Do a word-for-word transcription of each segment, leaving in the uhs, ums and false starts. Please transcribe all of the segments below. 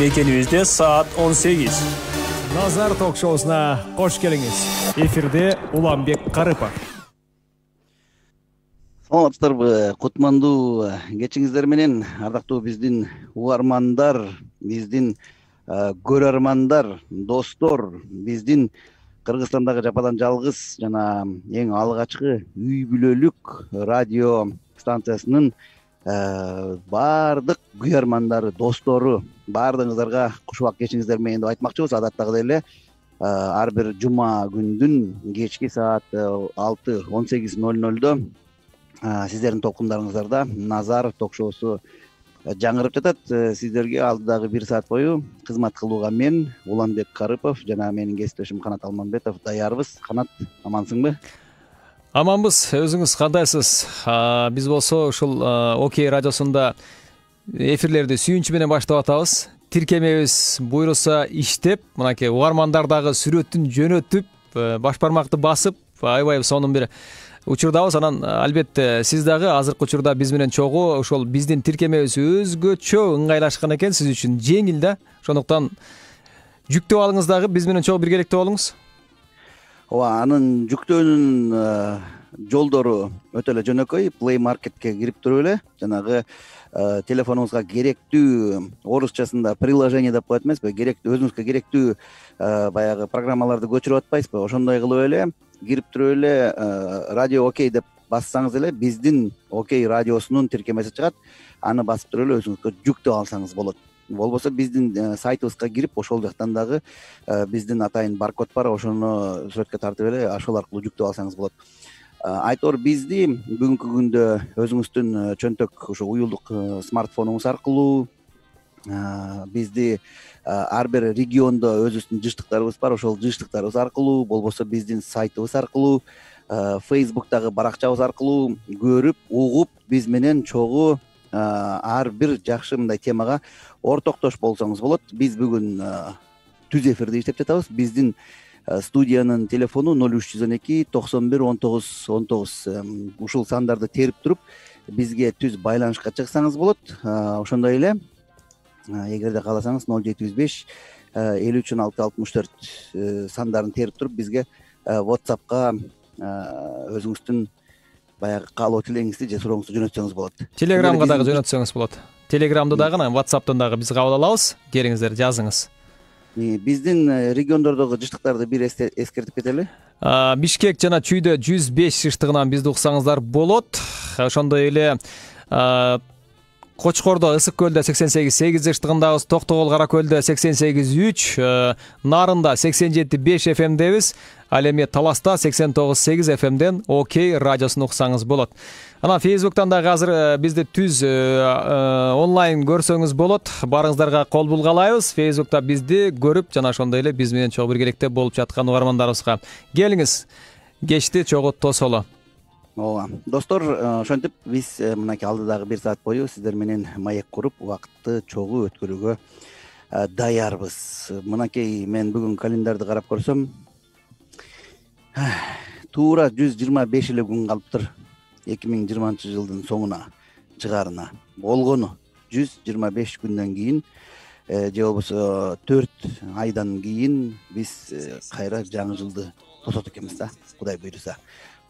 мекенибизде саат он сегиз. Назар ток-шоусуна кош келиңиз. Эфирде Уланбек Карыпов. Саламатсыздарбы? Кутмандуу кечиңиздер менен, ардактуу биздин угармандар, биздин көрөрмандар, достор, биздин Кыргызстандагы жападан жалгыз жана эң алгачкы үй бүлөлүк радио станциясынын баардык күйөрмандары, достору, баардыгыңыздарга куш убак кечиңиздер менен деп айтмакчыбыз. Адаттагыдай эле ар бир жума күндүн кечки саат алты он сегиз ноль нольдо сиздердин толкундарыңыздарда Назар ток-шоусу жаңырып жатат. Сиздерге алдыдагы бир саат бою кызмат кылууга мен, Уланбек Карыпов жана менин кесиптешим Канат Алманбетов даярбыз. Канат, амансыңбы? Аманбыз. Өзүңүз кандайсыз? Биз болсо ушул Окей радиосунда эфирлерди сүйүнчү менен баштап атабыз. Тиркемебиз буйруса иштеп, мынакей угармандар дагы сүрөтүн жөнөтүп, баш бармакты басып, аябай сонун бир учурдабыз. Анан албетте сиз дагы азыркы учурда биз менен чогуу ошол биздин тиркемебиз өзгөчө ыңгайлашкан экен, сиз үчүн жеңил да. Ошондуктан жүктөп алыңыз дагы биз менен чогуу биргеликте болуңуз. Ооба, анын жүктөөнүн жолдору өтө эле жөнөкөй. Play Marketке кирип туруп эле жанагы телефонуңузга керектүү, орусчасында приложение деп коет эмеспи, керектүү, өзүңүзгө керектүү баягы программаларды көчүрүп атпайсызбы? Ошондой кылып эле кирип туруп эле радио Окей деп бассаңыз эле биздин Окей радиосунун тиркемеси чыгат. Аны басып туруп эле өзүңүзгө жүктөп алсаңыз болот. Болбосо биздин сайтыбызга кирип, ошол жактан дагы биздин атайын баркод бар, ошону сүрөткө тартып эле ошол аркылуу жүктөп алсаңыз болот. Айтор бизди бүгүнкү күндө өзүңүздүн чөнтөк ушу уюлдук смартфонуңуз аркылуу, бизди ар бир региондо өзүбүздүн жыштыктарыбыз бар, ошол жыштыктарыбыз аркылуу, болбосо биздин сайтыбыз аркылуу, Facebook'тагы баракчабыз аркылуу көрүп, угуп, биз менен чогуу ар бир жакшы мындай темага ортоктош болсоңуз болот. Биз бүгүн түз эфирде иштеп жатабыз. Биздин студиянын телефону ноль үч жүз он эки токсон бир он тогуз он тогуз. Ушул сандарды терип туруп, бизге түз байланышка чыксаңыз болот. Ошондой эле эгерде кааласаңыз ноль жети жүз беш элүү үч он алты алтымыш төрт сандарын терип туруп, бизге WhatsApp'ка өзүңүздүн баягы каалоо тилегиңизди же сурооңузду жөнөтсөңүз болот. Телеграмга дагы жөнөтсөңүз болот. Телеграмды дагы, WhatsApp'тан дагы биз кабыл алабыз. Келиңиздер, жазыңыз. Биздин региондордогу жыштыктарды бир эскертип кетели. Бишкек жана Чүйдө жүз беш жыштыгынан бизди уксаңыздар болот. Ошондой эле Кочкордо, Ысык көлдө сексен сегиз сегиз жыштыгындабыз, Токтогул, Кара көлдө сексен сегиз үч, Нарында сексен жети беш эф эмдебиз. Ал эми Таласта сексен тогуз сегиз эф эмден Окей радиосун уксаңыз болот. Анан Facebook'тан дагы азыр бизди түз онлайн көрсөңүз болот. Барыңыздарга кол булгалайбыз. Facebook'та бизди көрүп, жана ошондой эле биз менен чогуу биргеликте болуп жаткан угармандарыбызга келиңиз. Кечти чогуу тосоло. Ооба, достор, ошентип биз мынакей алдыдагы бир саат бою сиздер менен маек куруп, убакытты чогуу өткөрүүгө даярбыз. Мынакей мен бүгүн календарды карап көрсөм, туура жүз жыйырма беш эле күн калыптыр эки миң жыйырманчы жылдын соңуна чыгаарына. Болгону жүз жыйырма беш күндөн кийин же болбосо төрт айдан кийин биз кайра жаңы жылды тосот экенбиз да, Кудай буйруса.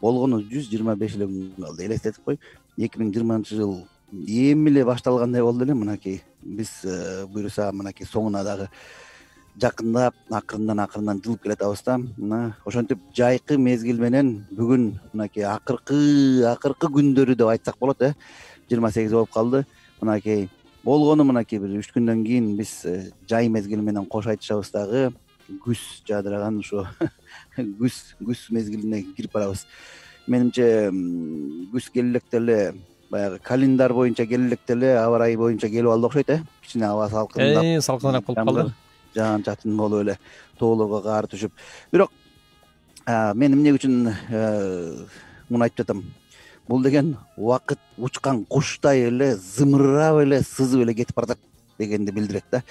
Болгону жүз жыйырма беш эле күн калды. Элестетип кой, эки миң жыйырманчы жыл эми эле башталгандай болду эле. Мынакей биз буйруса мынакей соңуна дагы жакындап, акырындан акырындан жылып келатабыз да. Мына ошентип жайкы мезгил менен бүгүн мынакей акыркы акыркы күндөрү деп айтсак болот, э. жыйырма сегиз болуп калды. Мынакей болгону мынакей бир үч күндөн кийин биз жай мезгили менен кош айтышабыз дагы. Күз жадыраган ушу күз күз мезгилине кирип барабыз. Менимче күз келелекте эле баягы календар боюнча келелекте эле аба ырайы боюнча келип алды окшойт, э. Кичине аба салкындап, Э, салкыныраак болуп калды. Жаан чатын болуп эле тоолорго кар түшүп. Бирок мен эмне үчүн муну айтып жатам? Бул деген убакыт учкан куштай эле зымырап эле сызып эле кетип баратат дегенди билдирет да.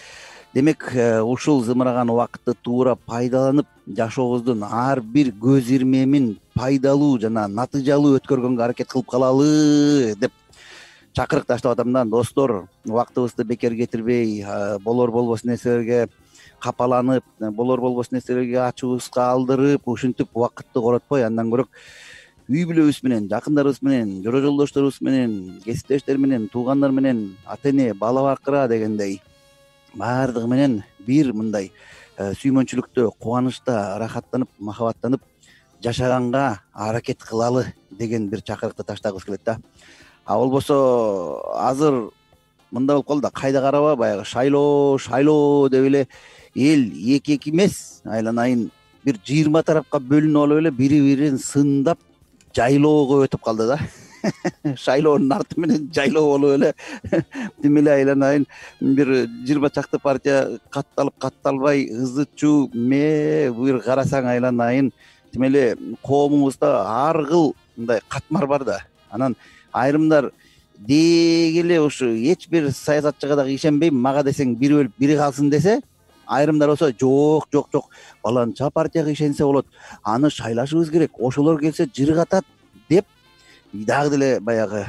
Демек, ушул зымыраган убакытты туура пайдаланып, жашообуздун ар бир көз ирмемин пайдалуу жана натыйжалуу өткөргөнгө аракет кылып калалы деп чакырык таштап атам да, достор, убактыбызды бекер кетирбей, болор болбос нерселерге капаланып, болор болбос нерселерге ачуубузга алдырып, ушинтип убакытты коротпой, андан көрө үй бүлөбүз менен, жакындарыбыз менен, жора жолдошторубуз менен, кесиптештер менен, туугандар менен, ата эне, бала бакыра дегендей баардыгы менен бир мындай сүймөнчүлүктө, кубанычта, рахаттанып, махабаттанып жашаганга аракет кылалы деген бир чакырыкты таштагыбыз келет да. А болбосо азыр мындай болуп калды да, кайда караба баягы шайлоо шайлоо деп эле эл эки эки эмес, айланайын бир жыйырма тарапка бөлүнүп алып эле бири бирин сындап жайлоого өтүп калды да. Шайлоонун арты менен жайлоо болуп эле тим эле айланайын бир жыйырма чакты партия катталып катталбай ызы чуу ме бир карасаң айланайын тим эле коомубузда ар кыл мындай катмар бар да. Анан айрымдар деги эле ушу эч бир саясатчыга дагы ишенбейм, мага десең бири өлүп бири калсын десе, айрымдар болсо жок жок жок баланча партияга ишенсе болот, аны шайлашыбыз керек, ошолор келсе жыргатат деп дагы деле баягы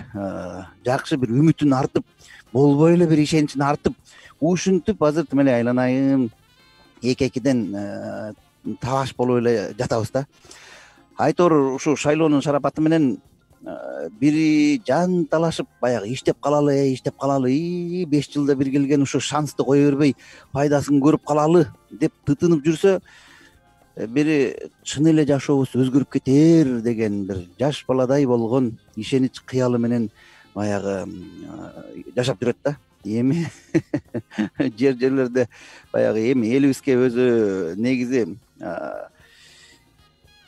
жакшы бир үмүтүн артып, болбой эле бир ишеничин артып, ушинтип азыр тим эле айланайын эки экиден талаш болуп эле жатабыз да. Айтор ушу шайлоонун шарапаты менен бири жанталашып баягы иштеп калалы, иштеп калалы, беш жылда бир келген ушу шансты кое бербей пайдасын көрүп калалы деп тытынып жүрсө, бири чын эле жашообуз өзгөрүп кетер деген бир жаш баладай болгон ишенич кыялы менен баягы жашап жүрөт да. Эми жер жерлерде баягы эми элибизге өзү негизи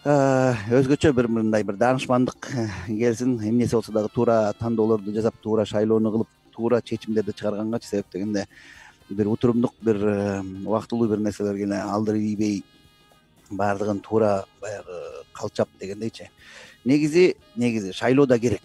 өзгөчө бир мындай бир даанышмандык келсин, эмнеси болсо дагы туура тандоолорду жасап, туура шайлоону кылып, туура чечимдерди чыгаргангачы, себеп дегенде бир утурумдук, бир убактылуу бир нерселерге эле алдыр ийбей баардыгын туура баягы калчап дегендейчи. Негизи негизи шайлоо да керек,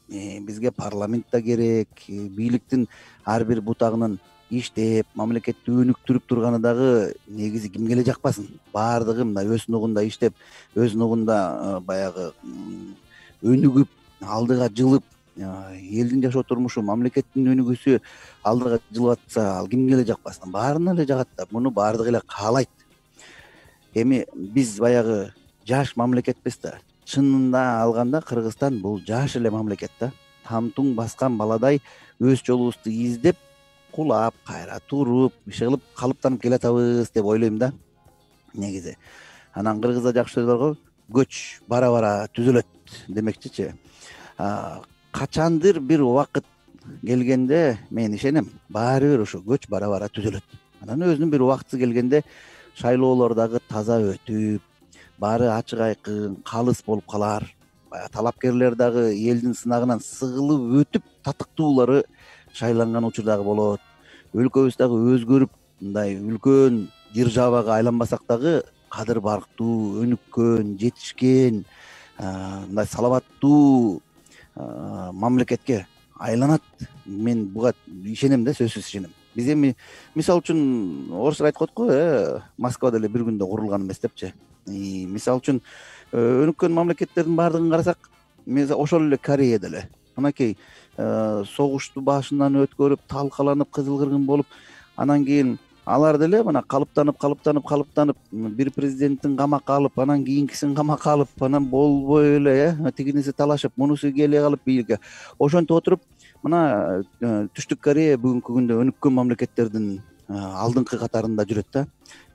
бизге парламент да керек, бийликтин ар бир бутагынын иштеп, мамлекетти өнүктүрүп турганы дагы негизи кимге эле жакпасын. Баардыгы мындай өз нугунда иштеп, өз нугунда баягы өнүгүп, алдыга жылып, элдин жашоо турмушу, мамлекеттин өнүгүүсү алдыга жылып атса, ал кимге эле жакпасын, баарына эле жагат да. Муну баардыгы эле каалайт. Эми биз баягы жаш мамлекетпиз да. Чынында алганда Кыргызстан бул жаш эле мамлекет да. Тамтуң баскан баладай өз жолубузду издеп, кулап, кайра туруп, иши кылып калыптанып келатабыз деп ойлойм да негизи. Анан кыргызда жакшы сөз барго, көч бара-бара түзөлөт демекчичи. Качандыр бир убакыт келгенде мен ишенем, баары бир ушу көч бара-бара түзөлөт. Анан өзүнүн бир убактысы келгенде шайлоолор дагы таза өтүп, баары ачык айкын, калыс болуп калар. Баягы талапкерлер дагы элдин сынагынан сыгылып өтүп, татыктуулары шайланган учур дагы болот. Өлкөбүз дагы өзгөрүп, мындай үлкөн державага айланбасак дагы кадыр барктуу, өнүккөн, жетишкен, мындай саламаттуу мамлекетке айланат. Мен буга ишенем да, сөзсүз ишенем. Биз эми мисалы үчүн орустар айткан го, э Москва деле бир күндө курулган эмес депчи. Мисалы үчүн өнүккөн мамлекеттердин баардыгын карасак, ошол эле Корея деле анакей согушту башынан өткөрүп, талкаланып, кызыл кыргын болуп, анан кийин алар деле мына калыптанып, калыптанып, калыптанып, бир президенттин камакка алып, анан кийинкисин камакка алып, анан болбой эле э тигиниси талашып, мунусу келе калып бийликке. Ошентип отуруп, мына Түштүк Корея бүгүнкү күндө өнүккөн мамлекеттердин алдыңкы катарында жүрөт да.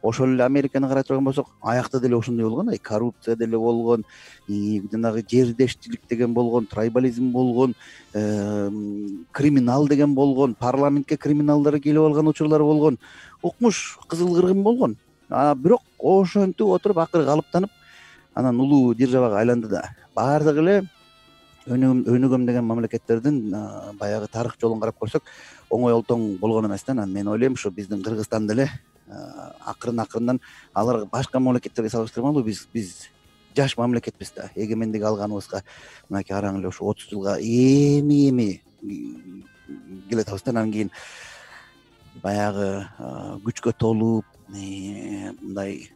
Ошол эле Американы карай турган болсок, аякта деле ошондой болгон, ай коррупция деле болгон, жанагы жердештилик деген болгон, трайбализм болгон, криминал деген болгон, парламентке криминалдар келип алган учурлар болгон, укмуш кызыл кыргын болгон. А бирок ошентип отуруп акыры калыптанып, анан улуу державага айланды да. Баардыгы эле өнүгөм деген мамлекеттердин баягы тарых жолун карап көрсөк, оңой олтоң болгон эмес да. Анан мен ойлойм, ушу биздин Кыргызстан деле акырын акырындан алар башка мамлекеттерге салыштырмалуу биз биз жаш мамлекетпиз да. Эгемендик алганыбызга мынакей араң эле ушу отуз жылга эми эми келатабыз да. Анан кийин баягы күчкө толуп, мындай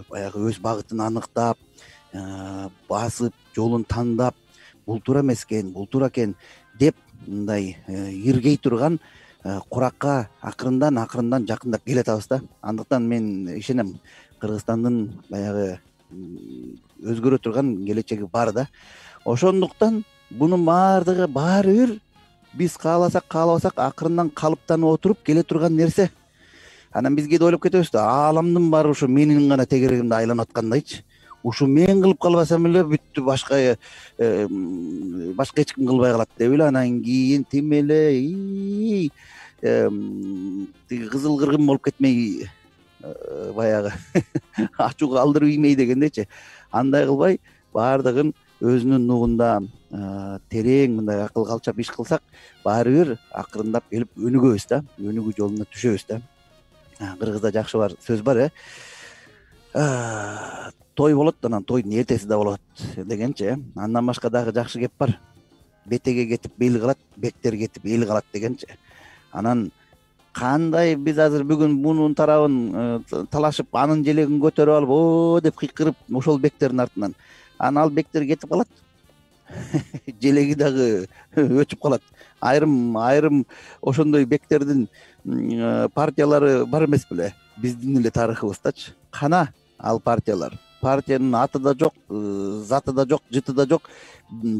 баягы өз багытын аныктап, басып, жолун тандап, бул туура эмес экен, бул туура экен деп мындай иргей турган куракка акырындан акырындан жакындап келатабыз да. Андыктан мен ишенем Кыргызстандын баягы өзгөрө турган келечеги бар да. Ошондуктан бунун баардыгы баары бир биз кааласак каалабасак акырындан калыптанып отуруп келе турган нерсе. Анан биз кээде ойлоп кетебиз да, ааламдын баары ушу менин гана тегерегимде айланып аткандайчы. Ушу мен кылып калбасам эле бүттү, башка башка эч ким кылбай калат деп эле анан кийин тим эле тиги кызыл кыргын болуп кетмей баягы ачууга алдырып иймей дегендейчи. Андай кылбай баардыгын өзүнүн нугунда терең мындай акыл калчап иш кылсак баары бир акырындап келип өнүгөбүз да, өнүгүү жолуна түшөбүз да. Кыргызда жакшы бар сөз бар, э той болот, анан тойдун эртеси да болот дегенчи. Андан башка дагы жакшы кеп бар. Бетеге кетип бел калат, бектер кетип эл калат дегенчи. Анан кандай биз азыр бүгүн мунун тарабын талашып, анын желегин көтөрүп алып, о деп кыйкырып ошол бектердин артынан, анан ал бектер кетип калат. Желеги дагы өтүп калат. Айрым айрым ошондой бектердин партиялары бар эмес беле биздин эле тарыхыбыздачы. Кана ал партиялар. Партиянын аты да жок, заты да жок, жыты да жок,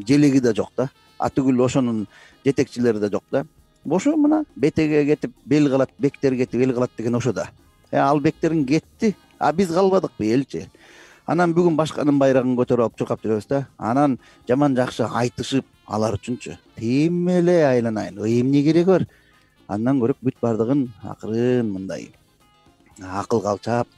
желеги да жок да. Атүгүл ошонун жетекчилери да жок да. Ошо мына бетеге кетип бел калат, бектер кетип эл калат деген ошо да. Э ал бектерин кетти, а биз калбадыкпы элчи. Анан бүгүн башканын байрагын көтөрүп алып чуркап жүрөбүз да. Анан жаман жакшы айтышып алар үчүнчү тим эле айланайын, эмне кереги бар? Андан көрөп бүт баардыгын акырын мындай акыл калчап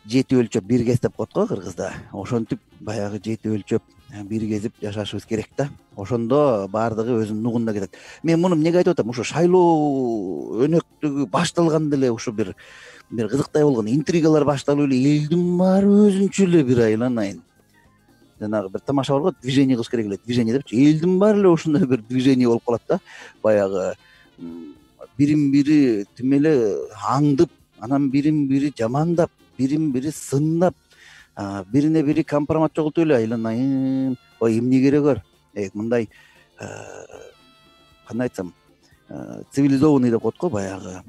жети өлчөп бир кез деп коет го кыргызда. Ошентип баягы жети өлчөп бир кезип жашашыбыз керек да. Ошондо баардыгы өзүнүн нугунда кетет. Мен муну эмнеге айтып атам? Ушу шайлоо өнөктүгү башталганда эле ушу бир бир кызыктай болгон, интригалар башталып эле элдин баары өзүнчө эле бир айланайын. Жанагы бир тамаша бар го, движение кылыш керек эле, движение депчи. Элдин баары эле ушундай бир движение болуп калат да. Баягы бирин бири тим эле аңдып, анан бирин бири жамандап, бирин бири сындап, бирине бири компромат жоготуп эле айланайын. Ой, эмне кереги бар? Э мындай кандай айтсам, цивилизованный деп коет го, баягы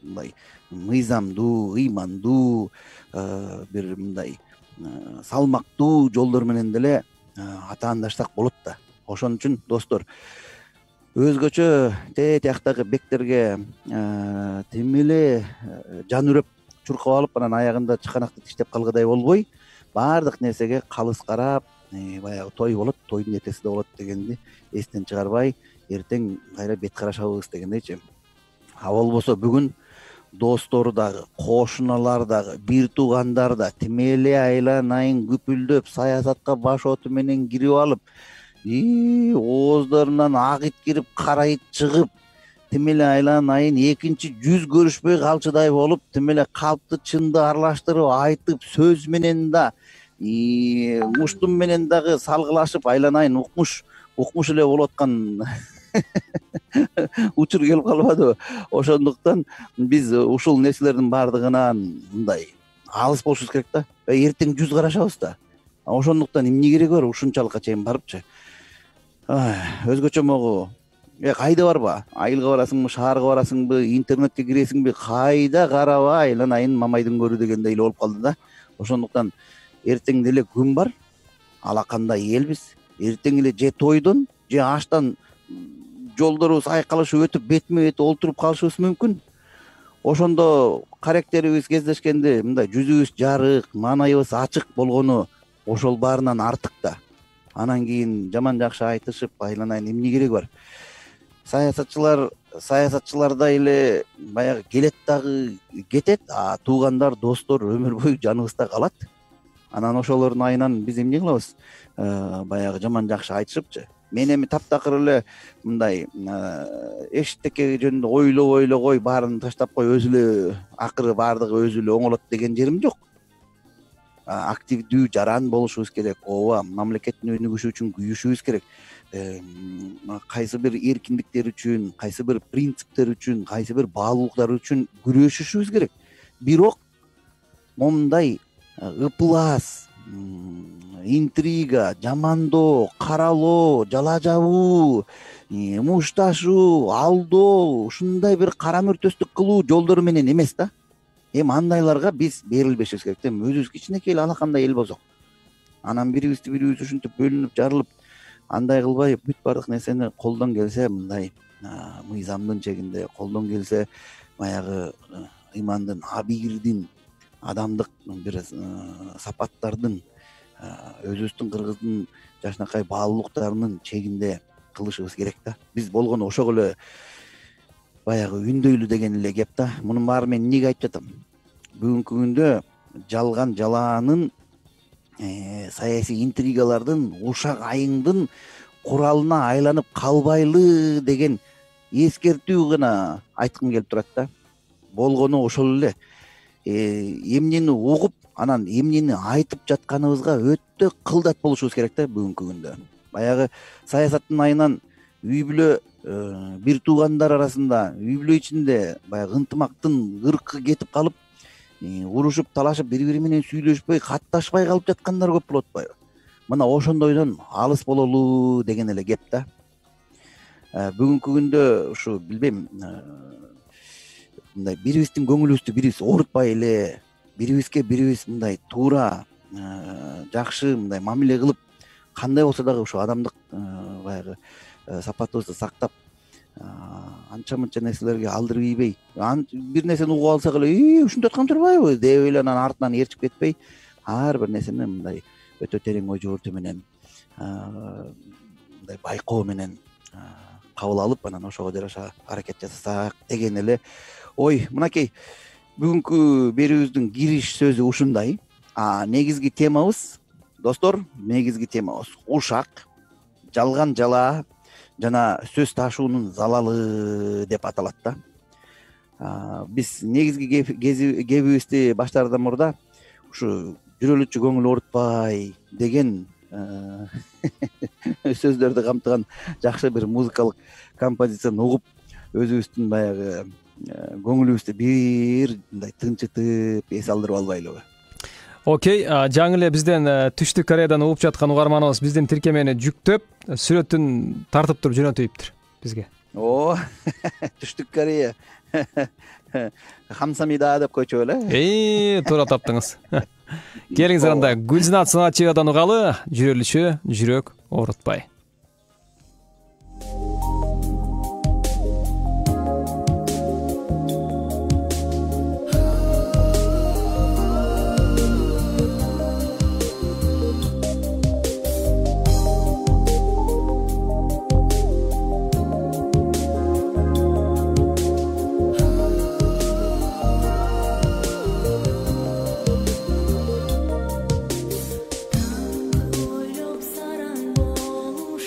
мындай мыйзамдуу, ыймандуу, бир мындай салмактуу жолдор менен деле атаандашсак болот да. Ошон үчүн достор, өзгөчө тетияктагы бектерге тим эле жан үрөп чуркап алып, анан аягында чыканакты тиштеп калгыдай болбой, баардык нерсеге калыс карап, баягы той болот, тойдун эртеси да болот дегенди эстен чыгарбай, эртең кайра бет карашабыз дегендейчи. А болбосо бүгүн достор дагы, кошуналар дагы, бир туугандар да тим эле айланайын күпүлдөп, саясатка баш оту менен кирип алып, и ооздорунан ак ит кирип, кара ит чыгып, тим эле айланайын экинчи жүз көрүшпөй калчудай болуп, тим эле калпты чынды аралаштырып айтып, сөз менен да, муштум менен дагы салгылашып айланайын укмуш, укмуш эле болуп аткан учур келип калбадыбы? Ошондуктан биз ушул нерселердин баардыгынан мындай алыс болушубуз керек да. Эртең жүз карашабыз да. Ошондуктан эмне кереги бар ушунчалыкка чейин барыпчы? Өзгөчө могу э кайда барба? Айылга барасыңбы, шаарга барасыңбы, интернетке киресиңби, кайда караба айланайын мамайдын көрү дегендей эле болуп калды да. Ошондуктан эртең деле күн бар, алакандай элбиз. Эртең эле же тойдон, же аштан жолдорубуз айкалышып өтүп, бетме бет олтуруп калышыбыз мүмкүн. Ошондо карактерибиз кездешкенде мындай жүзүбүз жарык, маанайыбыз ачык болгону ошол баарынан артык да. Анан кийин жаман жакшы айтышып айланайын эмне кереги бар? Саясатчылар саясатчылардай эле баягы келет дагы кетет, а туугандар, достор өмүр бою жаныбызда калат. Анан ошолордун айынан биз эмне кылабыз? Баягы жаман жакшы айтышыпчы. Мен эми таптакыр эле мындай эшиктеке жөнүндө ойлой ойлогой, баарын таштап кой, өзү эле акыры баардыгы өзү эле оңолот деген жерим жок. Активдүү, жаран болушубуз керек. Ооба, мамлекеттин өнүгүшү үчүн күйүшүбүз керек. Кайсы бир эркиндиктер үчүн, кайсы бир принциптер үчүн, кайсы бир баалуулуктар үчүн күрөшүшүбүз керек. Бирок момундай ыплас, интрига, жамандоо, каралоо, жала жабуу, мушташуу, алдоо, ушундай бир кара мөртөстүк кылуу жолдору менен эмес да. Эми андайларга биз берилбешибиз керек да. Өзүбүз кичинекей эле алакандай эл болсок, анан бирибизди бирибиз ушинтип бөлүнүп жарылып, андай кылбай бүт баардык нерсени колдон келсе мындай мыйзамдын чегинде, колдон келсе баягы ыймандын, абийирдин, адамдык бир сапаттардын, өзүбүздүн кыргыздын жакшынакай баалуулуктарынын чегинде кылышыбыз керек да. Биз болгону ошого эле баягы үндөйлү деген эле кеп да. Мунун баары мен эмнеге айтып жатам? Бүгүнкү күндө жалган жалаанын, саясий интригалардын, ушак айыңдын куралына айланып калбайлы деген эскертүү гана айткым келип турат да. Болгону ошол эле. Эмнени угуп, анан эмнени айтып жатканыбызга өтө кылдат болушубуз керек да бүгүнкү күндө. Баягы саясаттын айынан үй бүлө, бир туугандар арасында, үй бүлө ичинде баягы ынтымактын ыркы кетип калып, урушуп, талашып, бири-бири менен сүйлөшпөй, катташпай калып жаткандар көп болуп атпайбы? Мына ошондойдон алыс бололу деген эле кеп да. Бүгүнкү күндө ушу билбейм, мындай бирибиздин көңүлүбүздү бирибиз оорутпай эле, бирибизге бирибиз мындай туура, жакшы мындай мамиле кылып, кандай болсо дагы ушу адамдык баягы сапатыбызды сактап, анча-мынча нерселерге алдырып ийбей, бир нерсени угуп алсак эле, "И, ушинтип аткан турбайбы?" деп эле анан артынан ээрчип кетпей, ар бир нерсени мындай өтө терең ой жүгүртүү менен, мындай байкоо менен кабыл алып, анан ошого жараша аракет жасасак деген эле ой. Мынакей бүгүнкү берүүбүздүн кириш сөзү ушундай. А негизги темабыз, достор, негизги темабыз ушак, жалган жалаа жана сөз ташуунун залалы деп аталат да. Биз негизги кебибизди баштаардан мурда ушу жүрөлүчү көңүл оорутпай деген сөздөрдү камтыган жакшы бир музыкалык композицияны угуп, өзүбүздүн баягы көңүлүбүздү бир мындай тынчытып, эс алдырып албайлыбы? Окей, жаңы эле бизден Түштүк Кореядан угуп жаткан угарманыбыз биздин тиркемени жүктөп, сүрөтүн тартып туруп жөнөтүптүр бизге. О, Түштүк Корея. Хамсамида деп койчу эле. Эй, туура таптыңыз. Келиңиздер анда Гүлзинат Сыначиевадан угалы, жүрөлүчү жүрөк оорутпай. Ойлоп сараң болуп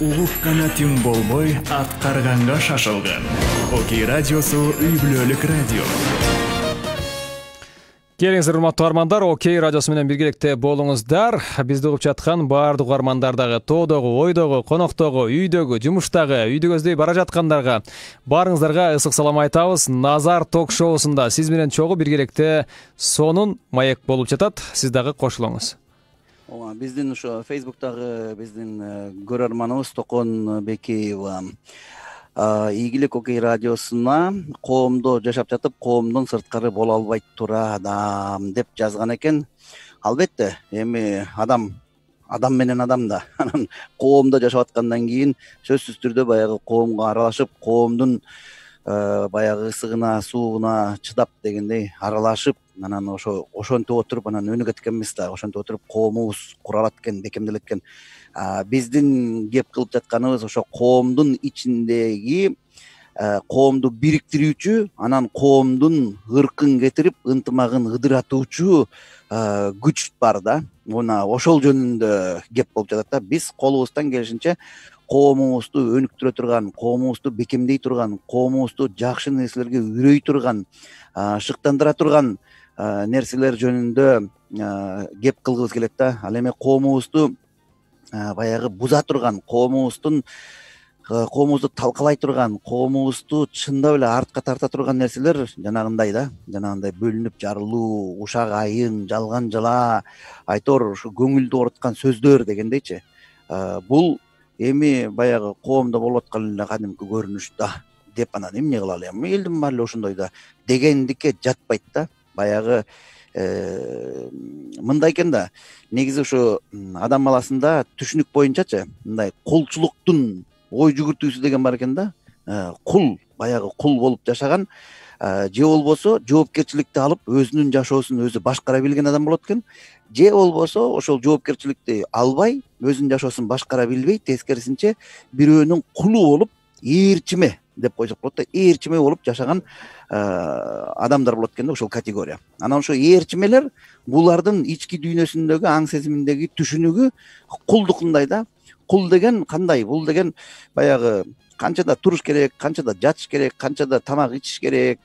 угуккана түң болбой аткарганга шашылган. Окей радиосу үй бүлөлүк радио. Келиңиздер, урматтуу угармандар, Окей радиосу менен биргеликте болуңуздар. Бизди угуп жаткан баардык угармандардагы, тоодогу, ойдогу, коноктогу, үйдөгү, жумуштагы, үйдү көздөй бара жаткандарга баарыңыздарга ысык салам айтабыз. Назар ток-шоусунда сиз менен чогуу биргеликте сонун маек болуп жатат. Сиз дагы кошулуңуз. Ооба, биздин ошо Facebook'тагы биздин көрөрманыбыз Токон Бекеева ийгилик Окей радиосуна коомдо жашап жатып, коомдон сырткары боло албайт тура адам деп жазган экен. Албетте, эми адам адам менен адам да. Анан коомдо жашап аткандан кийин сөзсүз түрдө баягы коомго аралашып, коомдун баягы ысыгына, сууна чыдап дегендей аралашып, анан ошо ошентип отуруп анан өнүгөт экенбиз да. Ошентип отуруп коомубуз куралат экен, бекемделет экен. Биздин кеп кылып жатканыбыз ошо коомдун ичиндеги коомду бириктирүүчү, анан коомдун ыркын кетирип, ынтымагын ыдыратуучу күч бар да. Мына ошол жөнүндө кеп болуп жатат да. Биз колубуздан келишинче коомубузду өнүктүрө турган, коомубузду бекемдей турган, коомубузду жакшы нерселерге үйрөй турган, шыктандыра турган нерселер жөнүндө кеп кылгыбыз келет да. Ал эми коомубузду баягы буза турган, коомубуздун коомубузду талкалай турган, коомубузду чындап эле артка тарта турган нерселер жанагындай да, жанагындай бөлүнүп жарылуу, ушак айын, жалган жала, айтор ушу көңүлдү ооруткан сөздөр дегендейчи. Бул эми баягы коомдо болуп аткан эле кадимки көрүнүш да деп анан эмне кылалы, эми элдин баары эле ошондой да дегендикке жатпайт да. Баягы мындай экен да, негизи ушу адам баласында түшүнүк боюнчачы мындай кулчулуктун ой жүгүртүүсү деген бар экен да. Кул, баягы кул болуп жашаган, же болбосо жоопкерчиликти алып өзүнүн жашоосун өзү башкара билген адам болот экен, же болбосо ошол жоопкерчиликти албай өзүнүн жашоосун башкара билбей, тескерисинче бирөөнүн кулу болуп, ээрчиме деп койсок болот да, ээрчиме болуп жашаган адамдар болот экен да, ошол категория. Анан ошо ээрчимелер булардын ички дүйнөсүндөгү аң сезиминдеги түшүнүгү кулдукундай да. Кул деген кандай? Бул деген баягы канчада туруш керек, канчада жатыш керек, канчада тамак ичиш керек,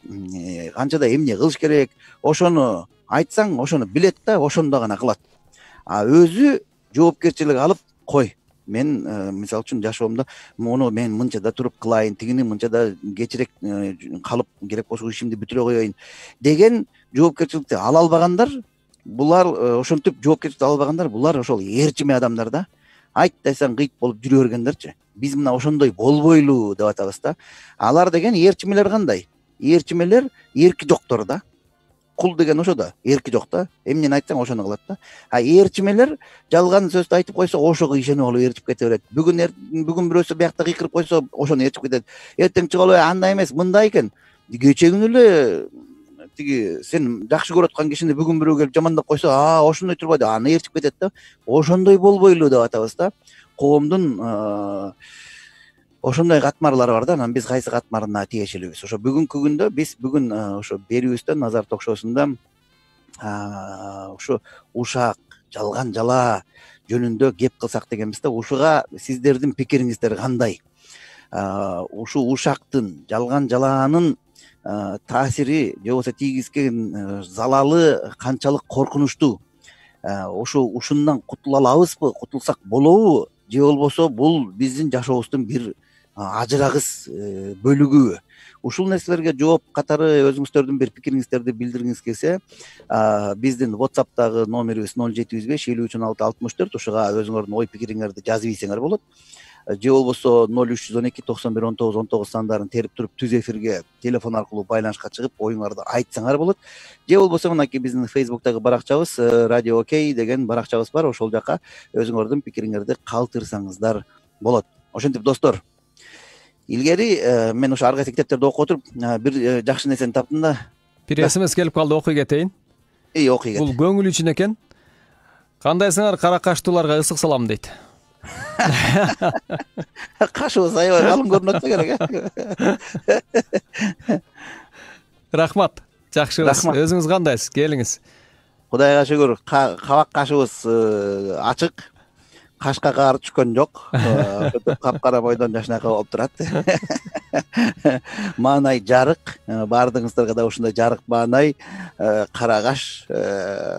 канчада эмне кылыш керек, ошону айтсаң, ошону билет да, ошондо гана кылат. А өзү жоопкерчилик алып, кой, мен мисалы үчүн жашоомдо муну мен мынчада туруп кылайын, тигини мынчада кечирээк калып, керек болсо ишимди бүтүрө коеюн деген жоопкерчиликти ала албагандар, булар ошентип жоопкерчиликти ала албагандар, булар ошол ээрчиме адамдар да. Айт десең кыйт болуп жүрө бергендерчи. Биз мына ошондой болбойлу деп атабыз да. Алар деген ээрчимелер кандай? Ээрчимелер эрки жоктор да. Кул деген ошо да, эрки жок да. Эмнени айтсаң ошону кылат да. А ээрчимелер жалган сөздү айтып койсо, ошого ишенип алып ээрчип кете берет. Бүгүн бүгүн бирөөсү биякта кыйкырып койсо, ошону ээрчип кетет. Эртең чыгып андай эмес, мындай экен. Кече күнү эле тиги сен жакшы көрүп аткан кишини бүгүн бирөө келип жамандап койсо, а ошондой турбайбы, аны ээрчип кетет да. Ошондой болбойлу деп атабыз да. Коомдун ошондой катмарлары бар да. Анан биз кайсы катмарына тиешелибиз? Ошо бүгүнкү күндө биз бүгүн ошо берүүбүздө Назар ток-шоусунда ошо ушак, жалган жала жөнүндө кеп кылсак дегенбиз да. Ушуга сиздердин пикириңиздер кандай? Ушу ушактын, жалган жалаанын таасири же болбосо тийгизген залалы канчалык коркунучтуу? Ошо ушундан кутула алабызбы, кутулсак болобу? Же болбосо бул биздин жашообуздун бир ажырагыс бөлүгүбү? Ушул нерселерге жооп катары өзүңүздөрдүн бир пикириңиздерди билдиргиңиз келсе, биздин WhatsApp'тагы номерибиз ноль жети жүз беш элүү үч он алты алтымыш төрт, ушуга өзүңөрдүн ой пикириңерди жазып ийсеңер болот. Же болбосо ноль үч жүз он эки токсон бир он тогуз он тогуз сандарын терип туруп түз эфирге телефон аркылуу байланышка чыгып оюңарды айтсаңар болот. Же болбосо мынакей биздин Facebook'тагы баракчабыз Radio Окей деген баракчабыз бар. Ошол жака өзүңөрдүн пикириңерди калтырсаңыздар болот. Ошентип достор, илгери мен ошо ар кайсы китептерди окуп отуруп бир жакшы нерсени таптым да. Бир смс келип калды, окуй кетейин. Эй, окуй кет. Бул көңүл үчүн экен. Кандайсыңар кара каштууларга ысык салам дейт. Кашыбыз аябай калың көрүнөт да керек. Рахмат. Жакшыбыз. Өзүңүз кандайсыз? Келиңиз. Кудайга шүгүр, кабак кашыбыз ачык. кашка каар түшкөн жок. Капкара бойдон жашынакай болуп турат. Маанай жарык. Баардыгыңыздарга да ушундай жарык маанай, кара каш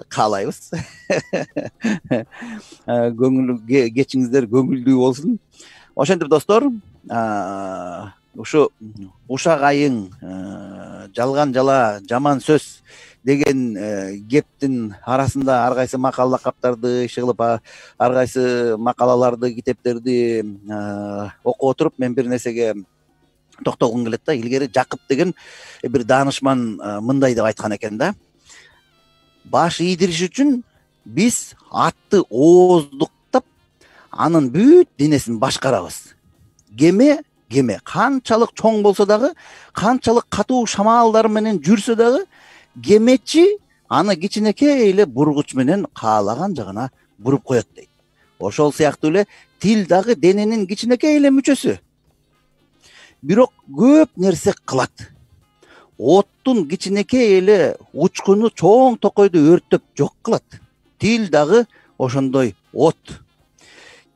каалайбыз. Көңүл кечиңиздер көңүлдүү болсун. Ошентип достор, ушу ушак айың, жалган жала, жаман сөз деген кептин арасында ар кайсы макала лакаптарды иши кылып, ар кайсы макалаларды, китептерди окуп отуруп, мен бир нерсеге токтогум келет да. Илгери Жакып деген бир даанышман мындай деп айткан экен да. Баш ийдириш үчүн биз атты ооздуктап, анын бүт денесин башкарабыз. Кеме кеме канчалык чоң болсо дагы, канчалык катуу шамалдар менен жүрсө дагы, кемечи аны кичинекей эле бургуч менен каалаган жагына буруп коет дейт. Ошол сыяктуу эле тил дагы дененин кичинекей эле мүчөсү. Бирок көп нерсе кылат. Оттун кичинекей эле учкуну чоң токойду өрттөп жок кылат. Тил дагы ошондой от.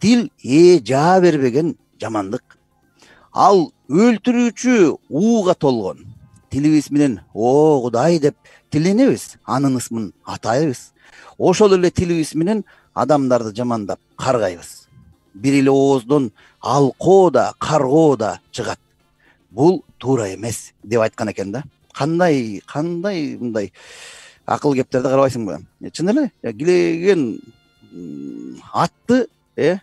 Тил ээ жаа бербеген жамандык. Ал өлтүрүүчү ууга толгон. Тилибиз менен о Кудай деп тиленебиз, анын ысмын атайбыз. Ошол эле тилибиз менен адамдарды жамандап каргайбыз. Бир эле ооздон алкоо да, каргоо да чыгат. Бул туура эмес деп айткан экен да. Кандай, кандай мындай акыл кептерди карабайсыңбы? Чын эле килеген атты, э,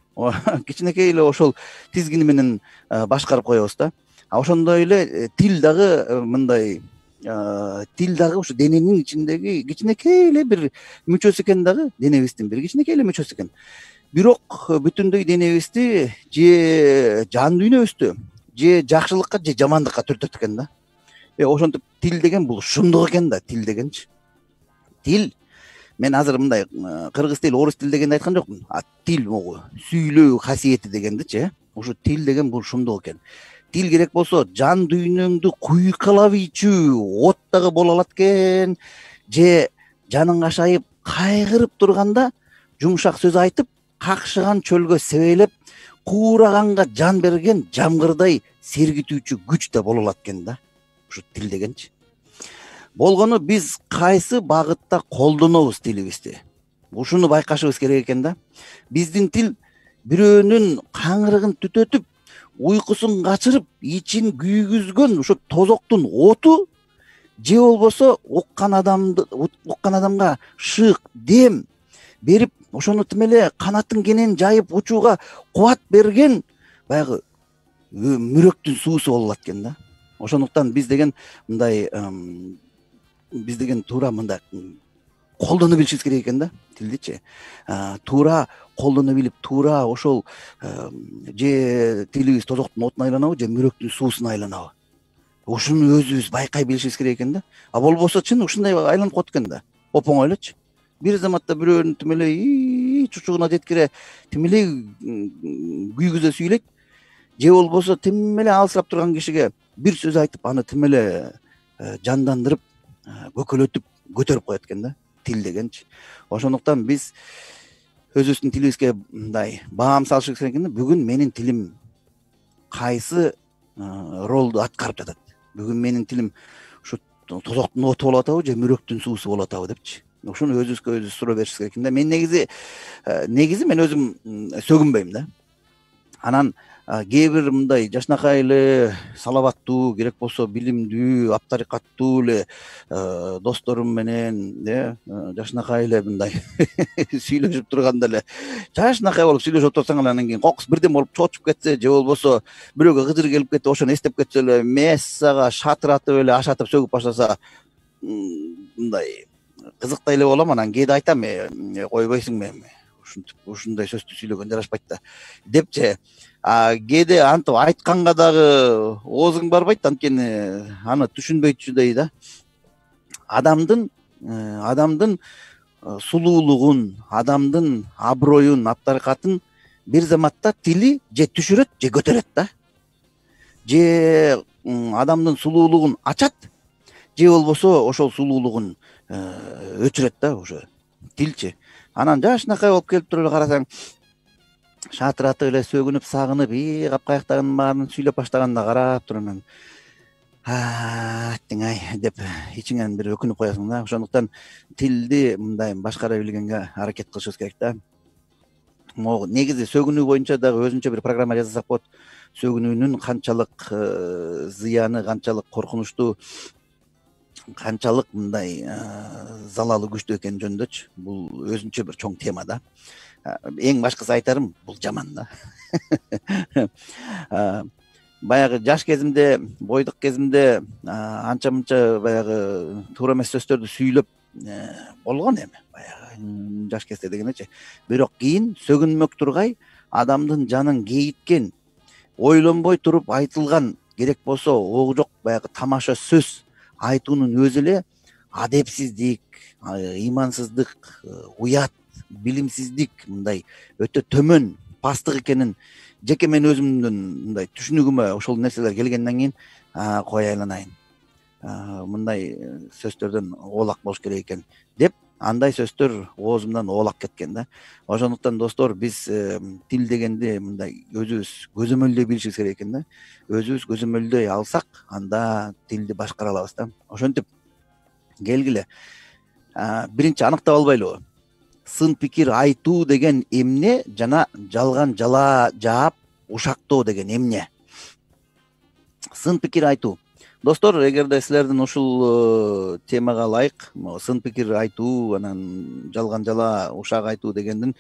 кичинекей эле ошол тизгини менен башкарып коебуз да. А ошондой эле тил дагы мындай, тил дагы ушу дененин ичиндеги кичинекей эле бир мүчөсү экен дагы, денебиздин бир кичинекей эле мүчөсү экен. Бирок бүтүндөй денебизди же жан дүйнөбүздү же жакшылыкка же жамандыкка түртөт экен да. Э ошентип тил деген бул шумдук экен да, тил дегенчи. Тил, мен азыр мындай кыргыз тил, орус тил дегенди айткан жокмун. А тил могу сүйлөө касиети дегендичи, э. Ушу тил деген бул шумдук экен. Тил керек болсо жан дүйнөңдү куйкалап ийчү от дагы боло алат экен, же жаның ашайып кайгырып турганда жумшак сөз айтып, какшыган чөлгө себелеп, куураганга жан берген жамгырдай сергитүүчү күч да боло алат экен да. Ушу тил дегенчи. Болгону биз кайсы багытта колдонобуз тилибизди? Ушуну байкашыбыз керек экен да. Биздин тил бирөөнүн каңырыгын түтөтүп, уйкусун качырып, ичин күйгүзгөн ошо тозоктун оту, же болбосо уккан адамды, уккан адамга шык, дем берип, ошону тим эле канатын кенен жайып учууга кубат берген баягы мүрөктүн суусу боло алат экен да. Ошондуктан биз деген мындай, биз деген туура мындай колдоно билишибиз керек экен да, тилдичи. Туура колдоно билип, туура ошол же тилибиз тозоктун отуна айланабы, же мүрөктүн суусуна айланабы. Ушуну өзүбүз байкай билишибиз керек экен да. А болбосо чын ушундай айланып коет экен да. Оп оңойлочу. Бир заматта бирөөнү тим эле чучугуна жеткире тим эле күйгүзө сүйлөйт, же болбосо тим эле алсырап турган кишиге бир сөз айтып, аны тим эле жандандырып, көкөлөтүп, көтөрүп коет экен да, тил дегенчи. Ошондуктан биз өзүбүздүн тилибизге мындай баам салышыбыз керек экен да. Бүгүн менин тилим кайсы ролду аткарып жатат? Бүгүн менин тилим ушу тозоктун оту болуп атабы, же мүрөктүн суусу болуп атабы депчи. Ошону өзүбүзгө өзүбүз суроо беришибиз керек экен да. Мен негизи негизи мен өзүм сөгүнбөйм да. Анан кээ бир мындай жашынакай эле салабаттуу, керек болсо билимдүү, аптарикаттуу эле досторум менен, э, жашынакай эле мындай сүйлөшүп турганда эле жашынакай болуп сүйлөшүп отурсаң эле, анан кийин кокус бирден болуп чоочуп кетсе, же болбосо бирөөгө кыжыр келип кетип, ошону эстеп кетсе эле мессага шатыратып эле ашатып сөгүп баштаса, мындай кызыктай эле болом. Анан кээде айтам, койбойсуңбу эми ушинтип ушундай сөздү сүйлөгөн жарашпайт да депчи. А кээде антип айтканга дагы оозуң барбайт, анткени аны түшүнбөйтчүдөй да. Адамдын адамдын сулуулугун, адамдын аброюн, аптарикатын бир заматта тили же түшүрөт, же көтөрөт да. Же адамдын сулуулугун ачат, же болбосо ошол сулуулугун өчүрөт да, ошо тилчи. Анан жашынакай болуп келип туруп эле карасаң, шатыратып эле сөгүнүп сагынып и капкаяктагынын баарын сүйлөп баштаганда карап туруп анан аттиң ай деп ичиңен бир өкүнүп коесуң да. Ошондуктан тилди мындай башкара билгенге аракет кылышыбыз керек да. Могу негизи сөгүнүү боюнча дагы өзүнчө бир программа жасасак болот. Сөгүнүүнүн канчалык зыяны, канчалык коркунучтуу, канчалык мындай залалы күчтүү экени жөнүндөчү. Бул өзүнчө бир чоң тема да. Эң башкысы айтарым, бул жаман да. Баягы жаш кезимде, бойдук кезимде анча мынча баягы туура эмес сөздөрдү сүйлөп болгон эми. Баягы жаш кезде дегенечи. Бирок кийин сөгүнмөк тургай адамдын жанын кейиткен, ойлонбой туруп айтылган, керек болсо ого жок баягы тамаша сөз айтуунун өзү эле адепсиздик, ыймансыздык, уят, билимсиздик, мындай өтө төмөн пасттык экенин жеке мен өзүмдүн мындай түшүнүгүмө ошол нерселер келгенден кийин кой айланайын, мындай сөздөрдөн оолак болуш керек экен деп, андай сөздөр оозумдан оолак кеткен да. Ошондуктан достор, биз тил дегенди мындай өзүбүз көзөмөлдөй билишибиз керек экен да. Өзүбүз көзөмөлдөй алсак, анда тилди башкара алабыз да. Ошентип келгиле, биринчи аныктап албайлыбы? Сын пикир айтуу деген эмне жана жалган жала жаап ушактоо деген эмне? Сын пикир айтуу. Достор, эгерде силердин ушул темага ылайык сын пикир айтуу, анан жалган жала ушак айтуу дегендин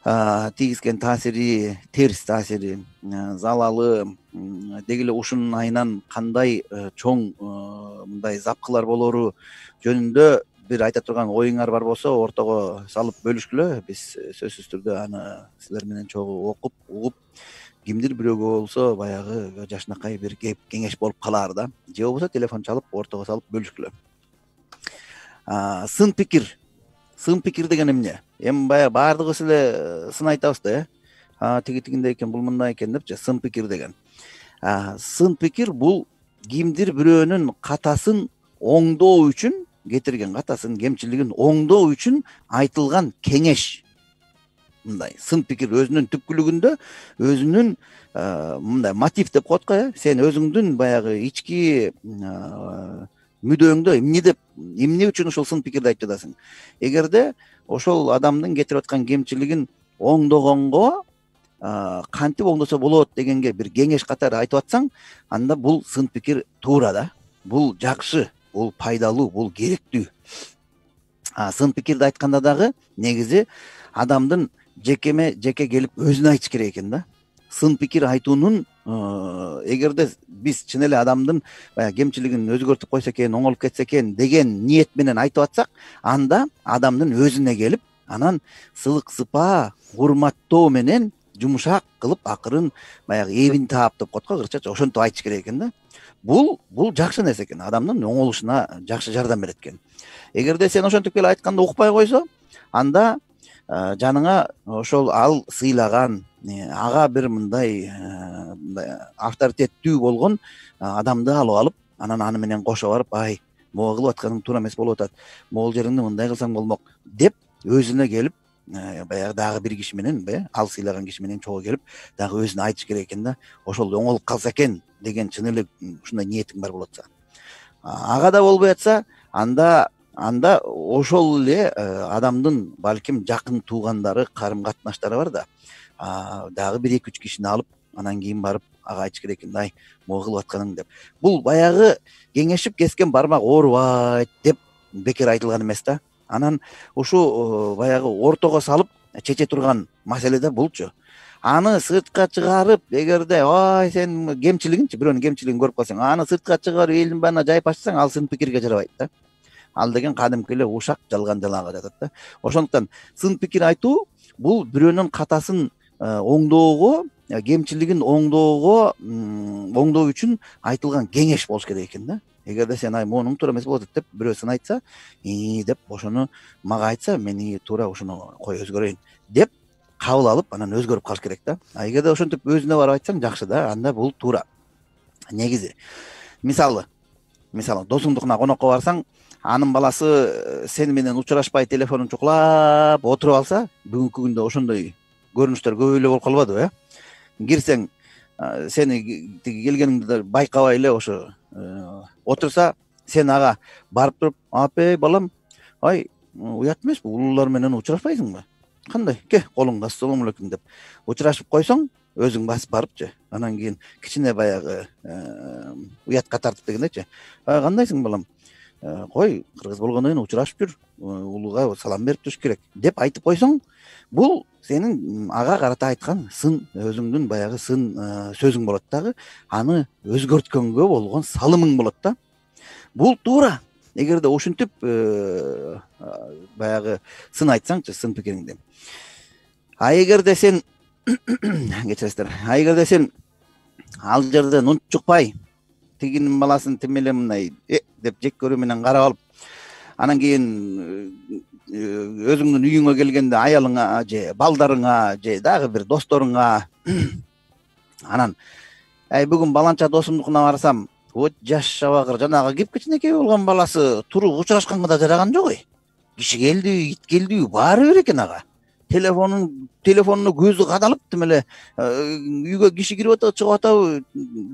тийгизген таасири, терс таасири, залалы, деги эле ушунун айынан кандай чоң мындай запкылар болору жөнүндө бир айта турган оюңар бар болсо, ортого салып бөлүшкүлө. Биз сөзсүз түрдө аны силер менен чогуу окуп, угуп, кимдир бирөөгө болсо баягы жашынакай бир кеп кеңеш болуп калаар да. Же болбосо телефон чалып, ортого салып бөлүшкүлө. Сын пикир. Сын пикир деген эмне? Эми баягы баардыгыбыз эле сын айтабыз да, э? Тиги тигиндей экен, бул мындай экен депчи, сын пикир деген. Сын пикир бул кимдир бирөөнүн катасын оңдоо үчүн, кетирген катасын, кемчилигин оңдоо үчүн айтылган кеңеш. Мындай сын пикир өзүнүн түпкүлүгүндө өзүнүн мындай мотив деп коет го, э? Сен өзүңдүн баягы ички мүдөөңдө эмне деп, эмне үчүн ошол сын пикирди айтып жатасың? Эгерде ошол адамдын кетирип аткан кемчилигин оңдогонго кантип оңдосо болот дегенге бир кеңеш катары айтып атсаң, анда бул сын пикир туура да. Бул жакшы, бул пайдалуу, бул керектүү. Сын пикирди айтканда дагы негизи адамдын жекеме жеке келип өзүнө айтыш керек экен да. Сын пикир айтуунун, эгерде биз чын эле адамдын баягы кемчилигин өзгөртүп койсо экен, оңолуп кетсе экен деген ниет менен айтып атсак, анда адамдын өзүнө келип, анан сылык сыпаа, урматтоо менен жумшак кылып, акырын баягы эбин таап деп коет го кырчача, ошентип айтыш керек экен да. Бул бул жакшы нерсе экен, адамдын оңолушуна жакшы жардам берет экен. Эгерде сен ошентип келип айтканда укпай койсо, анда жаныңа ошол ал сыйлаган, ага бир мындай авторитеттүү болгон адамды алып алып, анан аны менен кошо барып, ай, могу кылып атканың туура эмес болуп атат, могул жериңди мындай кылсаң болмок деп өзүнө келип, баягы дагы бир киши менен, ал сыйлаган киши менен чогуу келип, дагы өзүнө айтыш керек экен да. Ошол оңолуп калса экен деген чын эле ушундай ниетиң бар болот. Ага да болбой атса, анда анда ошол эле адамдын балким жакын туугандары, карым катнаштары бар да. Дагы бир эки үч кишини алып, анан кийин барып ага айтыш керек экен, ай, могу кылып атканың деп. Бул баягы кеңешип кескен бармак оорубайт деп бекер айтылган эмес да. Анан ушу баягы ортого салып чече турган маселе да булчу. Аны сыртка чыгарып, эгерде ай сен кемчилигинчи, бирөөнүн кемчилигин көрүп калсаң, аны сыртка чыгарып элдин баарына жайып ачсаң, ал сын пикирге жарабайт да. Ал деген кадимки эле ушак, жалган жалаага жатат да. Ошондуктан сын пикир айтуу бул бирөөнүн катасын оңдоого, кемчилигин оңдоого, оңдоо үчүн айтылган кеңеш болуш керек экен да. Эгерде сен ай монуң туура эмес болот деп бирөө сын айтса, и деп ошону мага айтса, мен туура ошону кой өзгөрөйүн деп кабыл алып, анан өзгөрүп калыш керек да. А эгерде ошентип өзүнө барып айтсаң, жакшы да, анда бул туура. Негизи, мисалы, мисалы досуңдукуна конокко барсаң, анын баласы сени менен учурашпай телефонун чукулап отуруп алса, бүгүнкү күндө ошондой көрүнүштөр көп эле болуп калбадыбы э кирсең сени тиги келгениңди байкабай эле ошо отурса сен ага барып туруп апей балам ай уят эмеспи улуулар менен учурашпайсыңбы кандай ке колуңду ассалому алейкум деп учурашып койсоң өзүң басып барыпчы анан кийин кичине баягы уятка тартып дегендейчи кандайсың балам кой кыргыз болгондон кийин учурашып жүр улууга салам берип туруш керек деп айтып койсоң бул сенин ага карата айткан сын өзүңдүн баягы сын сөзүң болот дагы аны өзгөрткөнгө болгон салымың болот да бул туура эгерде ушинтип баягы сын айтсаңчы сын пикириңди а эгерде сен кечиресиздер а эгерде сен ал жерден унчукпай тигинин баласын тим эле мындай э деп жек көрүү менен карап алып анан кийин өзүңдүн үйүңө келгенде аялыңа же балдарыңа же дагы бир досторуңа анан ай бүгүн баланча досумдукуна барсам вот жаш шабагыр жанагы кеп-кичинекей болгон баласы туруп учурашканга да жараган жок ой киши келдиби ит келдиби баары бир экен ага телефонун телефонуна көзү кадалып тим эле үйгө киши кирип атабы чыгып атабы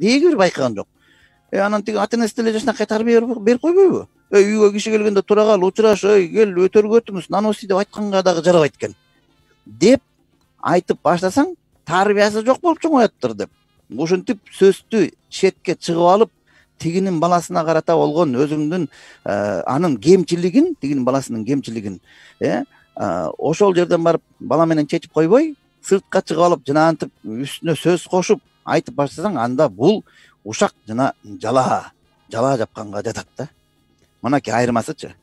деги бир байкаган жок э анан тиги ата энеси деле жакшынакай тарбия берип койбойбу э үйгө киши келгенде тура кал учураш ой кел өтөргө өтүңүз наноси деп айтканга дагы жарабайт экен деп айтып баштасаң тарбиясы жок болуп чоңояттыр деп ушинтип сөздү четке чыгып алып тигинин баласына карата болгон өзүңдүн анын кемчилигин тигинин баласынын кемчилигин э ошол жерден барып бала менен чечип койбой сыртка чыгып алып жанагынтип үстүнө сөз кошуп айтып баштасаң анда бул ушак жана жала жала жапканга жатат да мынакей айырмасычы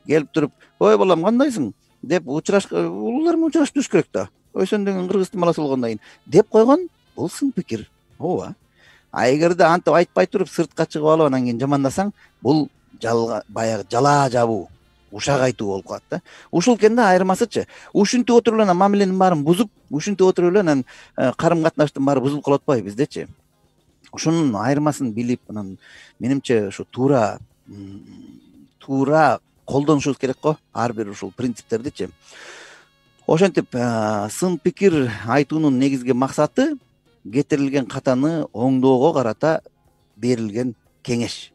келип туруп ой балам кандайсың деп учураш улуулар менен учурашып туруш керек да ой сен деген кыргыздын баласы болгондон кийин деп койгон бул сын пикир ооба а эгерде антип айтпай туруп сыртка чыгып алып анан кийин жамандасаң бул баягы жала жабуу ушак айтуу болуп калат да ушул экен да айырмасычы ушинтип отуруп эле анан мамиленин баарын бузуп ушинтип отуруп эле анан карым катнаштын баары бузулуп калып атпайбы биздечи ушунун айырмасын билип анан менимче ушу туура туура колдонушубуз керек го ар бир ушул принциптердичи ошентип сын пикир айтуунун негизги максаты кетирилген катаны оңдоого карата берилген кеңеш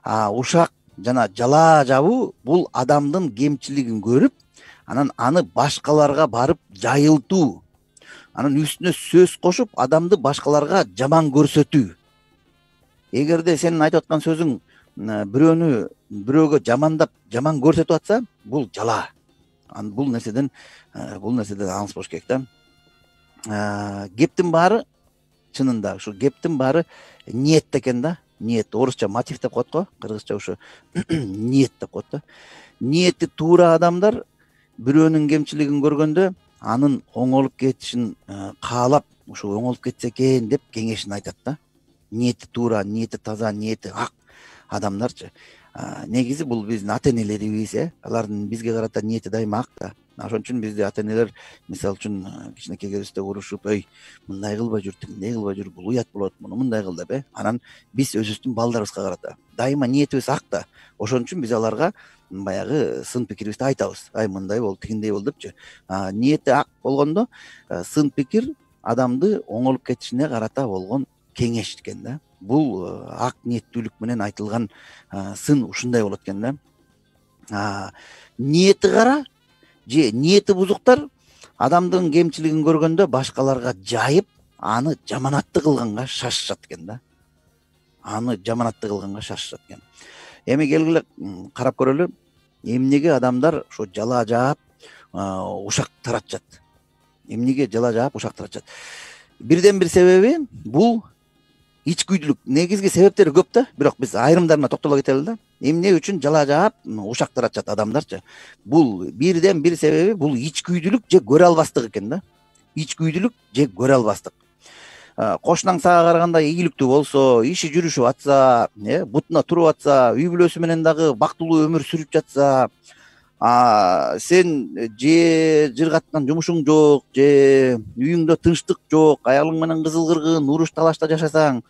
а ушак жана жала жабуу бул адамдын кемчилигин көрүп анан аны башкаларга барып жайылтуу анан үстүнө сөз кошуп адамды башкаларга жаман көрсөтүү эгерде сенин айтып аткан сөзүң бирөөнү бирөөгө жамандап жаман көрсөтүп атса бул жала бул нерседен бул нерседен алыс болуш керек да кептин баары чынында ушу кептин баары ниетте экен да ниет орусча мотив деп коет го кыргызча ушу ниет деп коет да ниети туура адамдар бирөөнүн кемчилигин көргөндө анын оңолуп кетишин каалап ушу оңолуп кетсе экен деп кеңешин айтат да ниети туура ниети таза ниети ак адамдарчы негизи бул биздин ата энелерибиз э алардын бизге карата ниети дайыма ак да ошон үчүн бизди ата энелер мисалы үчүн кичинекей кезибизде урушуп ой мындай кылбай жүр тигиндей кылбай жүр бул уят болот муну мындай кыл деп э анан биз өзүбүздүн балдарыбызга карата дайыма ниетибиз ак да ошон үчүн биз аларга баягы сын пикирибизди айтабыз ай мындай бол тигиндей бол депчи ниети ак болгондо сын пикир адамды оңолуп кетишине карата болгон кеңеш экен да бул ак ниеттүүлүк менен айтылган сын ушундай болот экен да ниети кара же ниети бузуктар адамдын кемчилигин көргөндө башкаларга жайып аны жаманаттуу кылганга шашышат экен да аны жаманаттуу кылганга шашышат экен эми келгиле карап көрөлү эмнеге адамдар ошо жала жаап ушак таратышат эмнеге жала жаап ушак таратышат бирден бир себеби бул ичкүйдүүлүк негизги себептери көп да бирок биз айрымдарына токтоло кетели да эмне үчүн жала жаап ушак таратышат адамдарчы бул бирден бир себеби бул ичкүйдүүлүк же көрө албастык экен да ичкүйдүүлүк же көрө албастык кошунаң сага караганда ийгиликтүү болсо иши жүрүшүп атса э бутуна туруп атса үй бүлөсү менен дагы бактылуу өмүр сүрүп жатса сен же жыргаткан жумушуң жок же үйүңдө тынчтык жок аялың менен кызыл кыргын уруш талашта жашасаң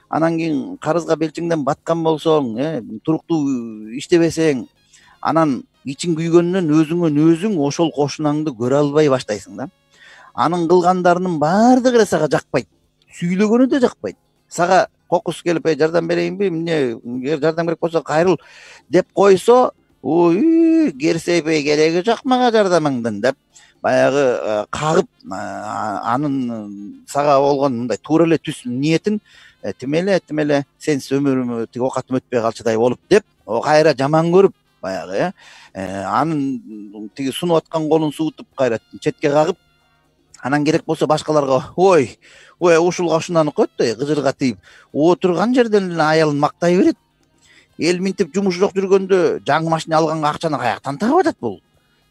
анан кийин карызга белчиңден баткан болсоң э туруктуу иштебесең анан ичиң күйгөндөн өзүңөн өзүң ошол кошунаңды көрө албай баштайсың да анын кылгандарынын баардыгы эле сага жакпайт, сүйлөгөнү да жакпайт. Сага кокус келип жардам берейинби, эмне жардам керек болсо кайрыл деп койсо, ой, керсейбей кереги жок мага жардамыңдын деп баягы кагып, анын сага болгон мындай туура эле түз ниетин тим эле тим эле сенсиз өмүрүм тиги оокатым өтпөй калчудай болуп деп кайра жаман көрүп баягы э анын тиги сунуп аткан колун суутуп кайра четке кагып, анан керек болсо башкаларга ой ой ушулга ушунаны коет да кыжырга тийип отурган жерден эле аялын мактай берет. Эл минтип жумуш жок жүргөндө жаңы машина алганга акчаны каяктан таап атат бул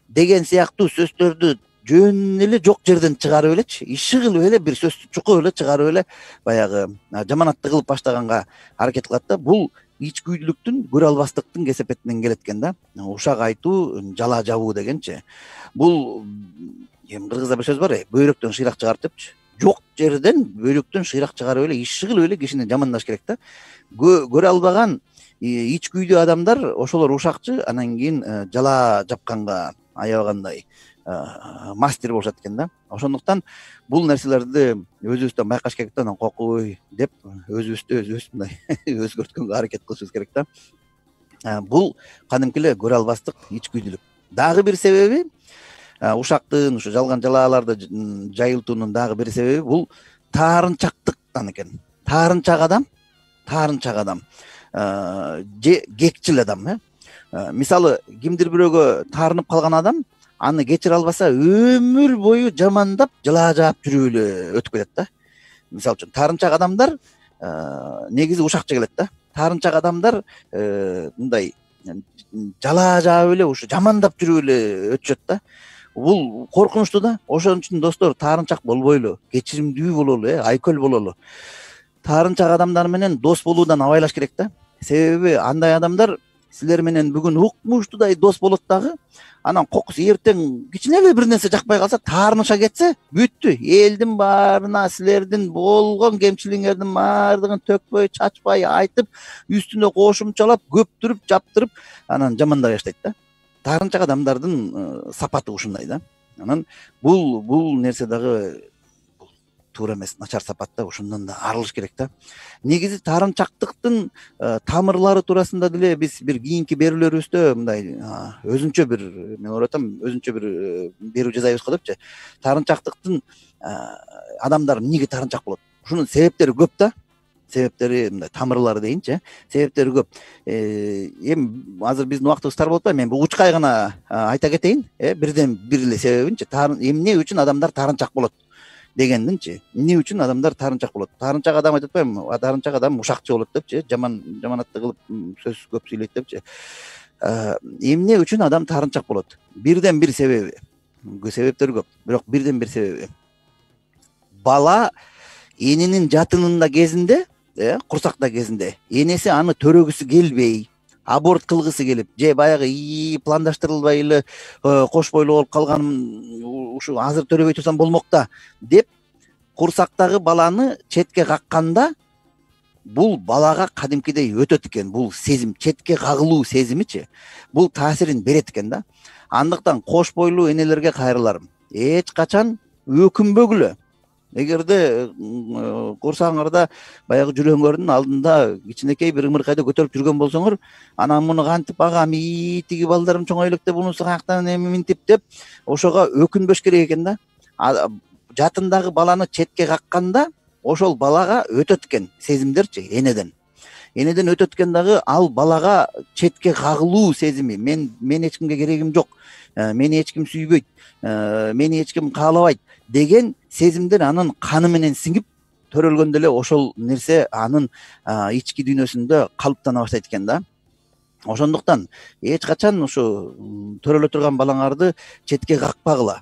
деген сыяктуу сөздөрдү жөн эле жок жерден чыгарып элечи, иши кылып эле бир сөздү чукуп эле чыгарып эле баягы жаманатты кылып баштаганга аракет кылат да. Бул ичкүйдүүлүктүн, көрө албастыктын кесепетинен келет экен да. Ушак айтуу, жала жабуу дегенчи. Бул эми кыргызда бир сөз бар, бөйрөктөн шыйрак чыгарат депчи. Жок жерден бөйрөктөн шыйрак чыгарып эле иши кылып эле кишини жамандаш керек да. Көрө албаган ичкүйдүү адамдар ошолор ушакчы, анан кийин жала жапканга аябагандай мастер болушат экен да. Ошондуктан бул нерселерди өзүбүздөн байкаш керек да, анан кокуй деп өзүбүздү өзүбүз мындай өзгөрткөнгө аракет кылышыбыз керек да. Бул кадимки эле көрө албастык, ичкүйдүүлүк. Дагы бир себеби, ушактын ушу жалган жалааларды жайылтуунун дагы бир себеби бул таарынчактыктан экен. Таарынчак адам, таарынчак адам же кекчил адам, э. Мисалы, кимдир бирөөгө таарынып калган адам аны кечире албаса өмүр бою жамандап, жала жаап жүрүп эле өтүп кетет да. Мисалы үчүн таарынчак адамдар негизи ушакчы келет да. Таарынчак адамдар мындай жала жаап эле ушу жамандап жүрүп эле өтүшөт да. Бул коркунучтуу да. Ошон үчүн достор, таарынчак болбойлу, кечиримдүү бололу, э, айкөл бололу. Таарынчак адамдар менен дос болуудан абайлаш керек да. Себеби андай адамдар силер менен бүгүн укмуштуудай дос болот дагы, анан кокус эртең кичине эле бир нерсе жакпай калса, таарыныша кетсе, бүттү. Элдин баарына силердин болгон кемчилигиңердин баардыгын төкпөй, чачпай айтып, үстүнө кошумчалап, көптүрүп, жаптырып, анан жамандай баштайт да. Таарынчак адамдардын сапаты ушундай да. Анан бул бул нерсе дагы туура эмес, начар сапат да, ошондон да арылыш керек да. Негизи таарынчактыктын тамырлары туурасында деле биз бир кийинки берүүлөрүбүздө мындай өзүнчө бир, мен ойлотом, өзүнчө бир берүү жасайбыз го депчи. Таарынчактыктын адамдар эмнеге таарынчак болот? Ушунун себептери көп да. Себептери мындай тамырлары дейинчи, себептери көп. Эми азыр биздин убактыбыз тар болуп атпайбы? Мен бул учкай гана айта кетейин, э, бирден бир эле себебинчи. Эмне үчүн адамдар таарынчак болот дегендинчи. Эмне үчүн адамдар таарынчак болот? Таарынчак адам айтып атпаймынбы? Таарынчак адам ушакчы болот депчи, жаман жаманатты кылып сөз көп сүйлөйт депчи. Эмне үчүн адам таарынчак болот? Бирден бир себеби. Себептери көп, бирок бирден бир себеби. Бала эненин жатынында кезинде, э, курсакта кезинде, энеси аны төрөгүсү келбей, аборт кылгысы келип, же баягы ии пландаштырылбай эле кош бойлуу болуп калганым, ушу азыр төрөбөй турсам болмок да деп курсактагы баланы четке какканда, бул балага кадимкидей өтөт экен. Бул сезим, четке кагылуу сезимичи, бул таасирин берет экен да. Андыктан кош бойлуу энелерге кайрыларым, эч качан өкүнбөгүлө. Эгерде курсагыңарда баягы жүрөгүңөрдүн алдында кичинекей бир ымыркайды көтөрүп жүргөн болсоңор, анан муну кантип агам, ии тиги балдарым чоңой электе бунусу каяктан эми минтип деп ошого өкүнбөш керек экен да. Жатындагы баланы четке какканда ошол балага өтөт экен сезимдерчи, энеден. Энеден өтөт экен дагы ал балага четке кагылуу сезими. Мен мен эч кимге керегим жок, мени эч ким сүйбөйт, мени эч ким каалабайт деген сезимдер анын каны менен сиңип төрөлгөндө эле ошол нерсе анын ички дүйнөсүндө калыптана баштайт экен да. Ошондуктан эч качан ушу төрөлө турган балаңарды четке какпагыла.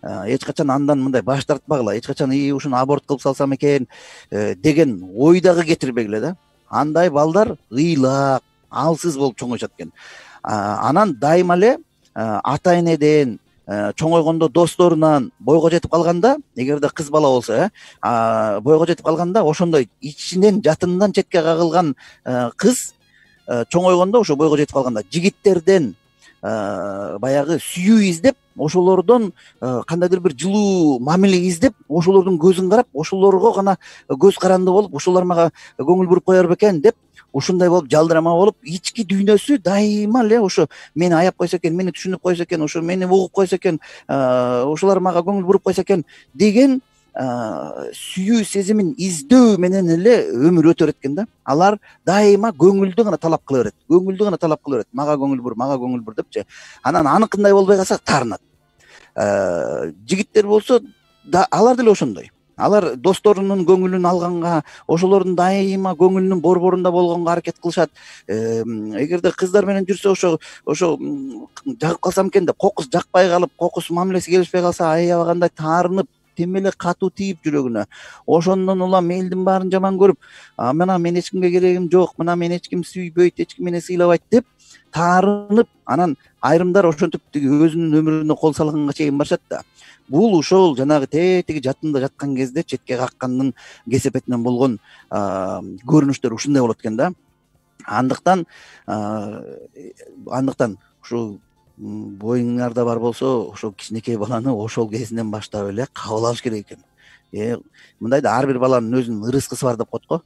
Эч качан андан мындай баш тартпагыла. Эч качан ии ушуну аборт кылып салсам экен деген ой дагы кетирбегиле да. Андай балдар ыйлак, алсыз болуп чоңоюшат экен. Анан дайыма эле ата энеден, чоңойгондо досторунан бойго жетип калганда, эгерде кыз бала болсо, э, бойго жетип калганда ошондой ичинен жатындан четке кагылган кыз чоңойгондо, ошо бойго жетип калганда жигиттерден баягы сүйүү издеп, ошолордон кандайдыр бир жылуу мамиле издеп, ошолордун көзүн карап, ошолорго гана көз каранды болуп, ошолор мага көңүл буруп коер бекен деп, ушундай болуп жалдырама болуп, ички дүйнөсү дайыма эле ошо мени аяп койсо экен, мени түшүнүп койсо экен, ошо мени угуп койсо экен, ошолор мага көңүл буруп койсо экен деген сүйүү сезимин издөө менен эле өмүр өтө берет экен да. Алар дайыма көңүлдү гана талап кыла берет, көңүлдү гана талап кыла берет, мага көңүл бур, мага көңүл бур депчи. Анан аныкындай болбой калса таарынат. Жигиттер болсо да алар деле ошондой. Алар досторунун көңүлүн алганга, ошолордун дайыма көңүлүнүн борборунда болгонго аракет кылышат. Эгерде кыздар менен жүрсө, ошо ошо жагып калсам экен деп, кокус жакпай калып, кокус мамилеси келишпей калса, аябагандай таарынып, темеле катуу тийип жүрөгүнө. Ошондон улам элдин баарын жаман көрүп, мына мен эч кимге керегим жок, мына мен эч ким сүйбөйт, эч ким мени сыйлабайт деп таарынып, анан айрымдар ошентип тиги өзүнүн өмүрүнө кол салганга чейин барышат да. Бул ошол жанагы тетиги жатында жаткан кезде четке каккандын кесепетинен болгон көрүнүштөр ушундай болот экен да. Андыктан андыктан ушул боюңарда бар болсо, ошол кичинекей баланы ошол кезинен баштап эле кабыл алыш керек экен. Э, мындай да ар бир баланын өзүнүн ырыскысы бар деп коет го.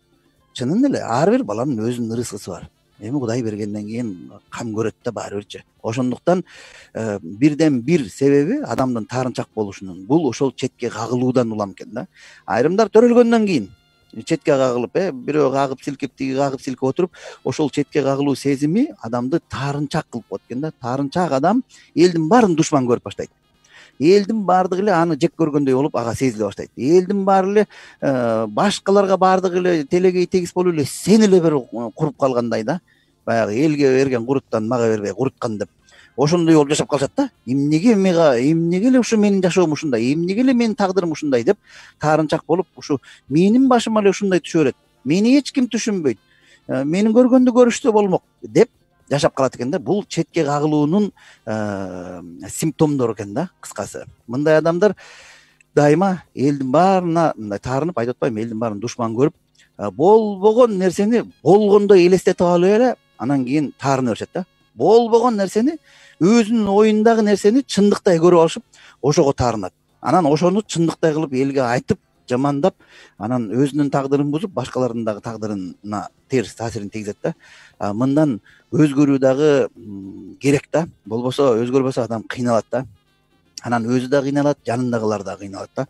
Чынын эле ар бир баланын өзүнүн ырыскысы бар. Эми Кудай бергенден кийин кам көрөт да баары бирчи. Ошондуктан бирден бир себеби адамдын таарынчак болушунун бул ошол четке кагылуудан улам экен да. Айрымдар төрөлгөндөн кийин четке кагылып, э бирөө кагып силкип, тиги кагып силкип отуруп, ошол четке кагылуу сезими адамды таарынчак кылып коет экен да. Таарынчак адам элдин баарын душман көрүп баштайт. Элдин баардыгы эле аны жек көргөндөй болуп ага сезиле баштайт. Элдин баары эле башкаларга баардыгы эле телегей тегиз болуп эле сен эле бир куруп калгандай да. Баягы элге берген куруттан мага бербей куруткан деп. Ошондой болуп жашап калышат да. Эмнеге мага, эмнеге эле ушу менин жашоом ушундай, эмнеге эле менин тагдырым ушундай деп таарынчак болуп, ушу менин башыма эле ушундай түшө берет. Мени эч ким түшүнбөйт. Менин көргөндү көрүштө болмок деп жашап калат экен да. Бул четке кагылуунун симптомдору экен да, кыскасы. Мындай адамдар дайыма элдин баарына мындай таарынып, айтып атпайбы, элдин баарын душман көрүп, болбогон нерсени болгондой элестетип алып эле анан кийин таарына беришет да. Болбогон нерсени, өзүнүн оюндагы нерсени чындыктай көрүп алышып, ошого таарынат. Анан ошону чындыктай кылып элге айтып, жамандап, анан өзүнүн тагдырын бузуп, башкалардын дагы тагдырына терс таасирин тийгизет да. Мындан өзгөрүү дагы керек да. Болбосо өзгөрбөсө адам кыйналат да. Анан өзү да кыйналат, жанындагылар да кыйналат да.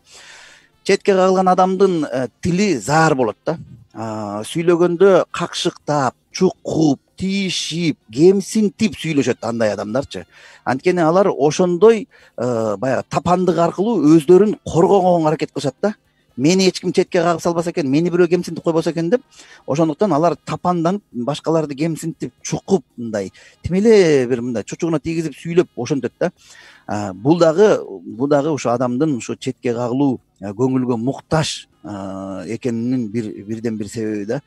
Четке кагылган адамдын тили заар болот да. Сүйлөгөндө какшыктап, чукуп, тийишип, кемсинтип сүйлөшөт андай адамдарчы. Анткени алар ошондой баягы тапандык аркылуу өздөрүн коргогонго аракет кылышат да. Мени эч ким четке кагып салбаса экен, мени бирөө кемсинтип койбосо экен деп, ошондуктан алар тапанданып, башкаларды кемсинтип, чукуп, мындай тим эле бир мындай чучугуна тийгизип сүйлөп ошентет да. Бул дагы бул дагы ошо адамдын ошо четке кагылуу, көңүлгө муктаж экенинин бир бирден бир себеби да.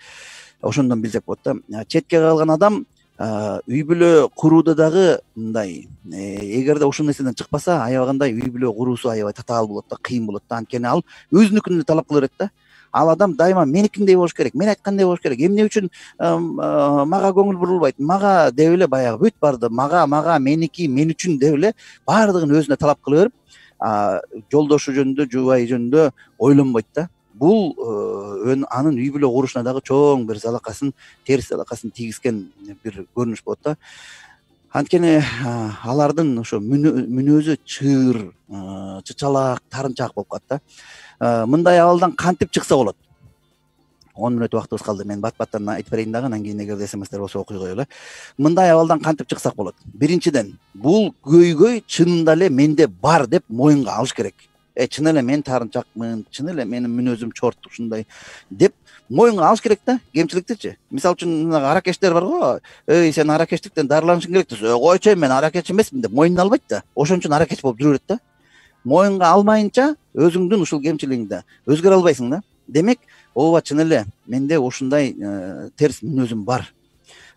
Ошондон билсек болот да. Четке кагылган адам үй бүлө курууда дагы мындай, эгерде ушул нерседен чыкпаса, аябагандай үй бүлө куруусу аябай татаал болот да, кыйын болот да. Анткени ал өзүнүкүн эле талап кыла берет да. Ал адам дайыма меникиндей болуш керек, мен айткандай болуш керек. Эмне үчүн мага көңүл бурулбайт, мага деп эле баягы бүт барды мага, мага, меники, мен үчүн деп эле баардыгын өзүнө талап кыла берип, жолдошу жөнүндө, жубайы жөнүндө ойлонбойт да. Бул анын үй бүлө курушуна дагы чоң бир залакасын, терс залакасын тийгизген бир көрүнүш болот да. Анткени алардын ошо мүнөзү чыр, чычалаак, таарынчаак болуп калат да. Мындай абалдан кантип чыкса болот? он мүнөт убактыбыз калды. Мен бат-баттан айтып берейин дагы, анан кийин эгерде смстер болсо окуй коелу. Мындай абалдан кантип чыксак болот? Биринчиден, бул көйгөй чынында эле менде бар деп моюнга алыш керек. Э, чын эле мен таарынчакмын, чын эле менин мүнөзүм чорт ушундай деп моюнга алыш керек да, кемчиликтичи. Мисалы үчүн аракечтер бар го, эй, сен аракечтиктен дарыланышың керек десе, койчу мен аракеч эмесмин деп моюнуна албайт да. Ошон үчүн аракеч болуп жүрө берет да. Моюнга алмайынча өзүңдүн ушул кемчилигиңди өзгөрө албайсың да. Демек, ооба чын эле менде ушундай терс мүнөзүм бар,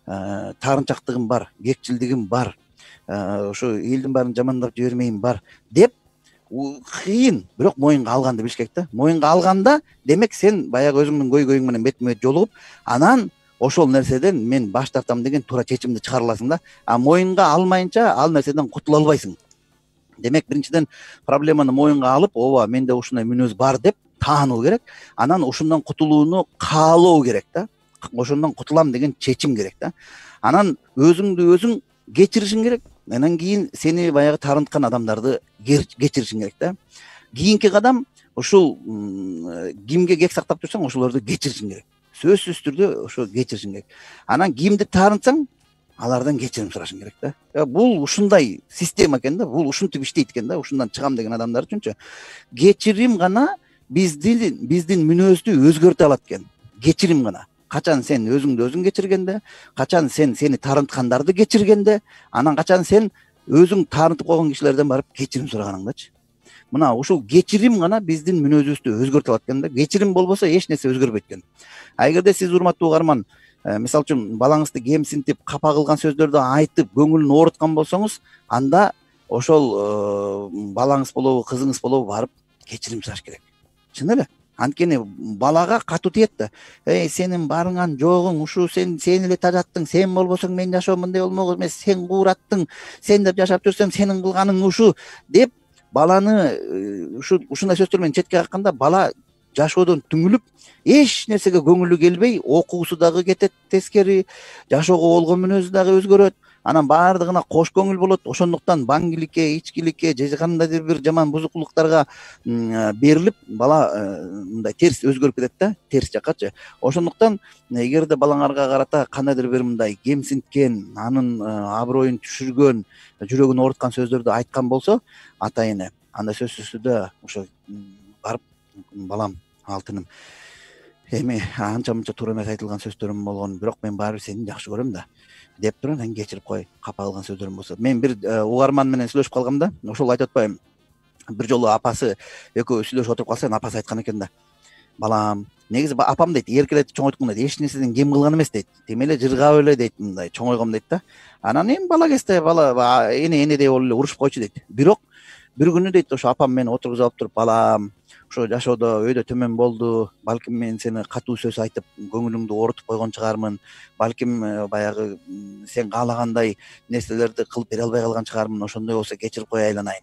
таарынчактыгым бар, кекчилдигим бар, ошо элдин баарын жамандап жибермейм бар деп кыйын, бирок моюнга алганды билиш керек да. Моюнга алганда, демек сен баягы өзүңдүн көйгөйүң менен бетме бет жолугуп, анан ошол нерседен мен баш тартам деген туура чечимди чыгара аласың да. А моюнга алмайынча ал нерседен кутула албайсың. Демек биринчиден проблеманы моюнга алып, ооба менде ушундай мүнөз бар деп таануу керек. Анан ушундан кутулууну каалоо керек да. Ошондон кутулам деген чечим керек да. Анан өзүңдү өзүң кечиришиң керек. Анан кийин сени баягы таарынткан адамдарды кечиришиң керек да. Кийинки кадам ушул кимге кек сактап турсаң, ошолорду кечиришиң керек. Сөзсүз түрдө ошо кечиришиң керек. Анан кимди таарынтсаң, алардан кечирим сурашың керек да. Бул ушундай система экен да. Бул ушинтип иштейт экен да. Ушундан чыгам деген адамдар үчүнчү кечирим гана биздин биздин мүнөздү өзгөртө алат экен. Кечирим гана. Качан сен өзүңдү өзүң кечиргенде, качан сен сени таарынткандарды кечиргенде, анан качан сен өзүң таарынтып койгон кишилерден барып кечирим сураганыңдачы. Мына ушул кечирим гана биздин мүнөзүбүздү өзгөртө алат экен да. Кечирим болбосо эч нерсе өзгөрбөйт экен. А эгерде сиз урматтуу угарман, мисалы үчүн балаңызды кемсинтип, капа кылган сөздөрдү айтып, көңүлүн ооруткан болсоңуз, анда ошол балаңыз болобу, кызыңыз болобу барып кечирим сураш керек. Чын эле. Анткени балага катуу тиет да. Эй, сенин барыңан жогуң, ушу сен сен эле тажаттың, сен болбосоң мен жашоо мындай болмок эмес, сен куураттың, сен деп жашап жүрсөм сенин кылганың ушу деп баланы ушу ушундай сөздөр менен четке какканда, бала жашоодон түңүлүп, эч нерсеге көңүлү келбей, окуусу дагы кетет тескери, жашоого болгон мүнөзү дагы өзгөрөт. Анан баардыгына кош көңүл болот. Ошондуктан баңгиликке, ичкиликке, же кандайдыр бир жаман бузукулуктарга берилип, бала мындай терс өзгөрүп кетет да, терс жаккачы. Ошондуктан эгерде балаңарга карата кандайдыр бир мындай кемсинткен, анын аброюн түшүргөн, жүрөгүн ооруткан сөздөрдү айткан болсо, ата эне, анда сөзсүз түрдө ошо барып, балам, алтыным, эми анча мынча туура эмес айтылган сөздөрүм болгон, бирок мен баары бир сени жакшы көрөм да деп туруп, анан кечирип кой, капа кылган сөздөрүм болсо. Мен бир угарман менен сүйлөшүп калгамда, ошол айтып атпаймынбы, бир жолу апасы экөө сүйлөшүп отуруп калса, апасы айткан экен да: балам, негизи апам дейт, эркелетип чоңойткон дейт, эч нерседен кем кылган эмес дейт, тим эле жыргап эле дейт, мындай чоңойгом дейт да. Анан эми бала кезде бала эне энедей болуп эле урушуп койчу дейт. Бирок бир күнү дейт, ошо апам мени отургузуп алып туруп, балам, ошо жашоодо өйдө төмөн болду, балким мен сени катуу сөз айтып көңүлүңдү оорутуп койгон чыгармын, балким баягы сен каалагандай нерселерди кылып бере албай калган чыгармын, ошондой болсо кечирип кой айланайын,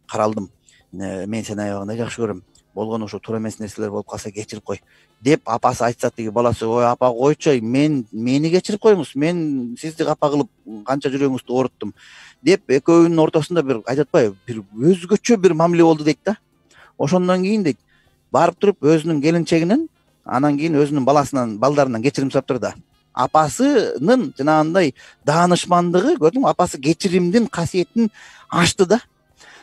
каралдым, мен сени аябагандай жакшы көрөм, болгону ошо туура эмес нерселер болуп калса кечирип кой деп апасы айтса, тиги баласы: ой апа, койчу, мен мени кечирип коюңуз, мен сизди капа кылып канча жүрөгүңүздү ооруттум деп экөөнүн ортосунда бир айтып атпайбы, бир өзгөчө бир мамиле болду дейт да. Ошондон кийин дейт, барып туруп өзүнүн келинчегинен, анан кийин өзүнүн баласынан, балдарынан кечирим сурап турду да. Апасынын жанагындай даанышмандыгы, көрдүңбү, апасы кечиримдин касиетин ачты да.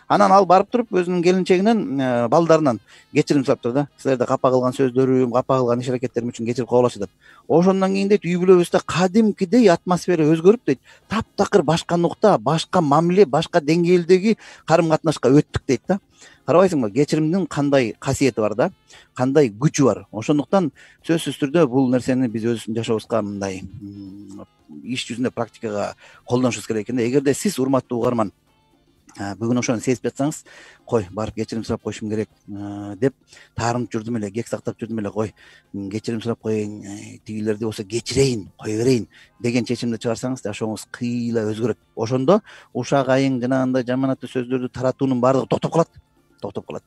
Анан ал барып туруп өзүнүн келинчегинен, балдарынан кечирим сурап турду да. Силерди капа кылган сөздөрүм, капа кылган иш аракеттерим үчүн кечирип койгулачы деп. Ошондон кийин дейт, үй бүлөбүздө кадимкидей атмосфера өзгөрүп дейт, таптакыр башка нукта, башка мамиле, башка деңгээлдеги карым катнашка өттүк дейт да. Карабайсыңбы, кечиримдин кандай касиети бар да, кандай күчү бар. Ошондуктан сөзсүз түрдө бул нерсени биз өзүбүздүн жашообузга мындай иш жүзүндө практикага колдонушубуз керек экен да. Эгерде сиз, урматтуу угарман, бүгүн ошону сезип жатсаңыз, кой, барып кечирим сурап коюшум керек деп таарынып жүрдүм эле, кек сактап жүрдүм эле, кой, кечирим сурап коеюн, тигилерди болсо кечирейин, кое берейин деген чечимди чыгарсаңыз, жашооңуз кыйла өзгөрөт. Ошондо ушак айың, жанагындай жаманаттуу сөздөрдү таратуунун баардыгы токтоп калат. токтоп калат.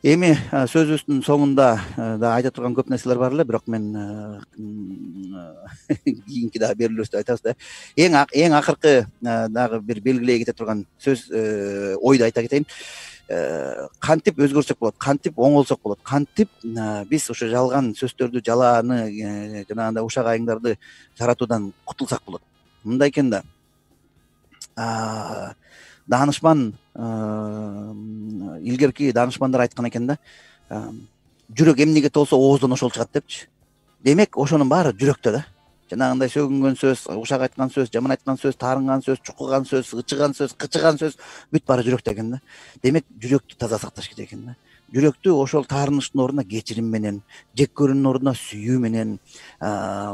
Эми сөзүбүздүн соңунда да айта турган көп нерселер бар эле, бирок мен кийинки дагы берүүлөрүбүздө айтабыз да. Эң эң акыркы дагы бир белгилей кете турган сөз, ойду айта кетейин. Кантип өзгөрсөк болот, кантип оңолсок болот, кантип биз ошо жалган сөздөрдү, жалааны, жанагындай ушак айыңдарды таратуудан кутулсак болот. Мындай экен да. Даанышман, илгерки даанышмандар айткан экен да, жүрөк эмнеге толсо ооздон ошол чыгат депчи. Демек ошонун баары жүрөктө да. Жанагындай сөгүнгөн сөз, ушак айткан сөз, жаман айткан сөз, таарынган сөз, чукуган сөз, ычыган сөз, кычыган сөз бүт баары жүрөктө экен да. Демек жүрөктү таза сакташ керек экен да. Жүрөктү ошол таарынычтын ордуна кечирим менен, жек көрүүнүн ордуна сүйүү менен,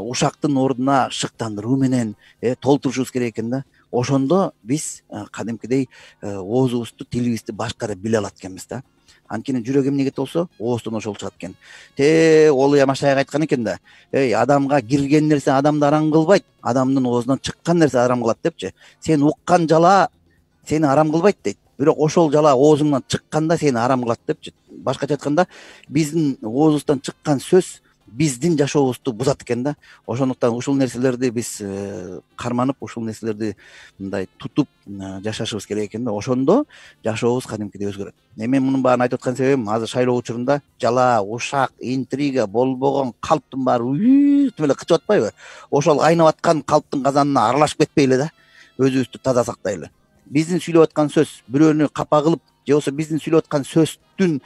ушактын ордуна шыктандыруу менен толтурушубуз керек экен да. Ошондо биз кадимкидей оозубузду, тилибизди башкара биле алат экенбиз да. Анткени жүрөк эмнеге толсо ооздон ошол чыгат экен. Те Олуя Машаяк айткан экен да, эй, адамга кирген нерсе адамды арам кылбайт, адамдын оозунан чыккан нерсе арам кылат депчи. Сен уккан жала сени арам кылбайт дейт, бирок ошол жала оозуңан чыкканда сени арам кылат депчи. Башкача айтканда биздин оозубуздан чыккан сөз биздин жашообузду бузат экен да. Ошондуктан ушул нерселерди биз карманып, ушул нерселерди мындай тутуп жашашыбыз керек экен да. Ошондо жашообуз кадимкидей өзгөрөт. Мен мунун баарын айтып аткан себебим, азыр шайлоо учурунда жала, ушак, интрига, болбогон калптын баары үтүп эле кычып атпайбы? Ошол кайнап аткан калптын казанына аралашып кетпейле да, өзүбүздү таза сактайлы. Биздин сүйлөп аткан сөз бирөөнү капа кылып, же болбосо биздин сүйлөп аткан сөздүн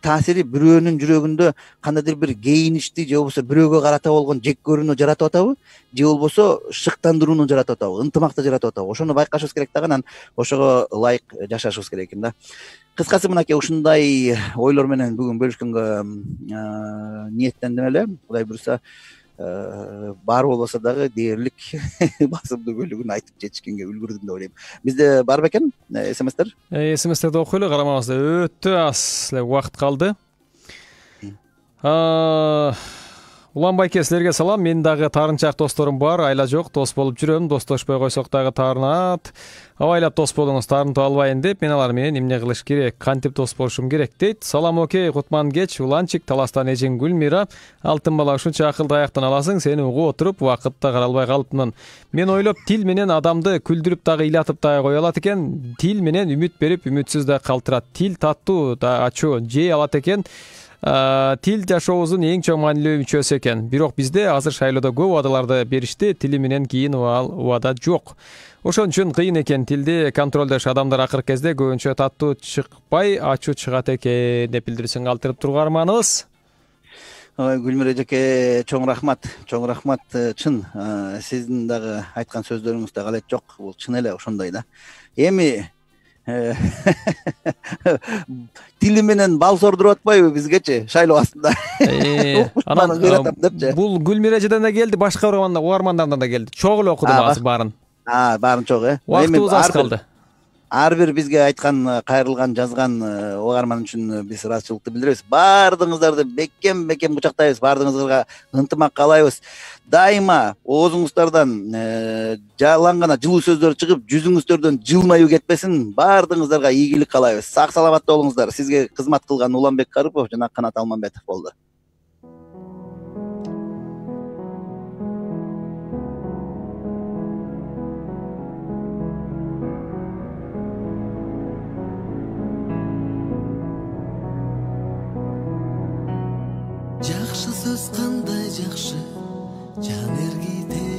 таасири бирөөнүн жүрөгүндө кандайдыр бир кейиничти, же болбосо бирөөгө карата болгон жек көрүүнү жаратып атабы, же болбосо шыктандырууну жаратып атабы, ынтымакты жаратып атабы? Ошону байкашыбыз керек да, анан ошого ылайык жашашыбыз керек экен да. Кыскасы мынакей ушундай ойлор менен бүгүн бөлүшкөнгө ниеттендим эле. Кудай буюрса бар болбосо дагы дээрлик басымдуу бөлүгүн айтып жетишкенге үлгүрдүм деп ойлойм. Бизде бар бекен смстер? смстерди окуйлу, карамабызда өтө аз эле убакыт калды. Улан байке, силерге салам. Мен дагы таарынчаак досторум бар, айла жок, дос болуп жүрөм. Достошпой койсок дагы таарынат. Абайлап дос болуңуз, таарынтып албайын деп, мен алар менен эмне кылыш керек, кантип дос болушум керек дейт. Салам, окей, Кутман кеч, Уланчик, Таластан эжең Гүлмира. Алтын бала, ушунча акылды аяктан аласың, сени угуп отуруп, убакытта каралбай калыптмын. Мен ойлоп, тил менен адамды күлдүрүп дагы ыйлатып дагы кое алат экен. Тил менен үмүт берип, үмүтсүз да калтырат. Тил таттуу да ачуу жей алат экен. Тил жашообуздун эң чоң маанилүү мүчөсү экен. Бирок бизде азыр шайлоодо көп убадаларды беришти, тили менен кийин убада жок. Ошон үчүн кыйын экен тилди контролдош. Адамдар акыркы кезде көбүнчө таттуу чыкпай, ачуу чыгат экен деп билдирүүсүн калтырып тургарманыбыз. Ой, Гүлмира эжеке, чоң рахмат, чоң рахмат. Чын, сиздин дагы айткан сөздөрүңүздө галет жок. Бул чын эле ошондой да. Эми тили менен бал сордуруп атпайбы бизгечи шайлоо астында? Бул Гүлмира эжеден да келди, башка угармандардан да келди. Чогуу эле окудум азыр баарын. А, баарын чогуу, э? Убактыбыз аз калды. Ар бир бизге айткан, кайрылган, жазган угарман үчүн биз ыраазычылыкты билдиребиз. Баардыгыңыздарды бекем бекем кучактайбыз, баардыгыңызга ынтымак каалайбыз. Дайыма оозуңуздардан жалаң гана жылуу сөздөр чыгып, жүзүңүздөрдөн жылмаюу кетпесин. Баардыгыңыздарга ийгилик каалайбыз. Сак саламатта болуңуздар. Сизге кызмат кылган Уланбек Карыпов жана Канат Алмамбетов болду. Жакшы сөз кандай жакшы, жан эргите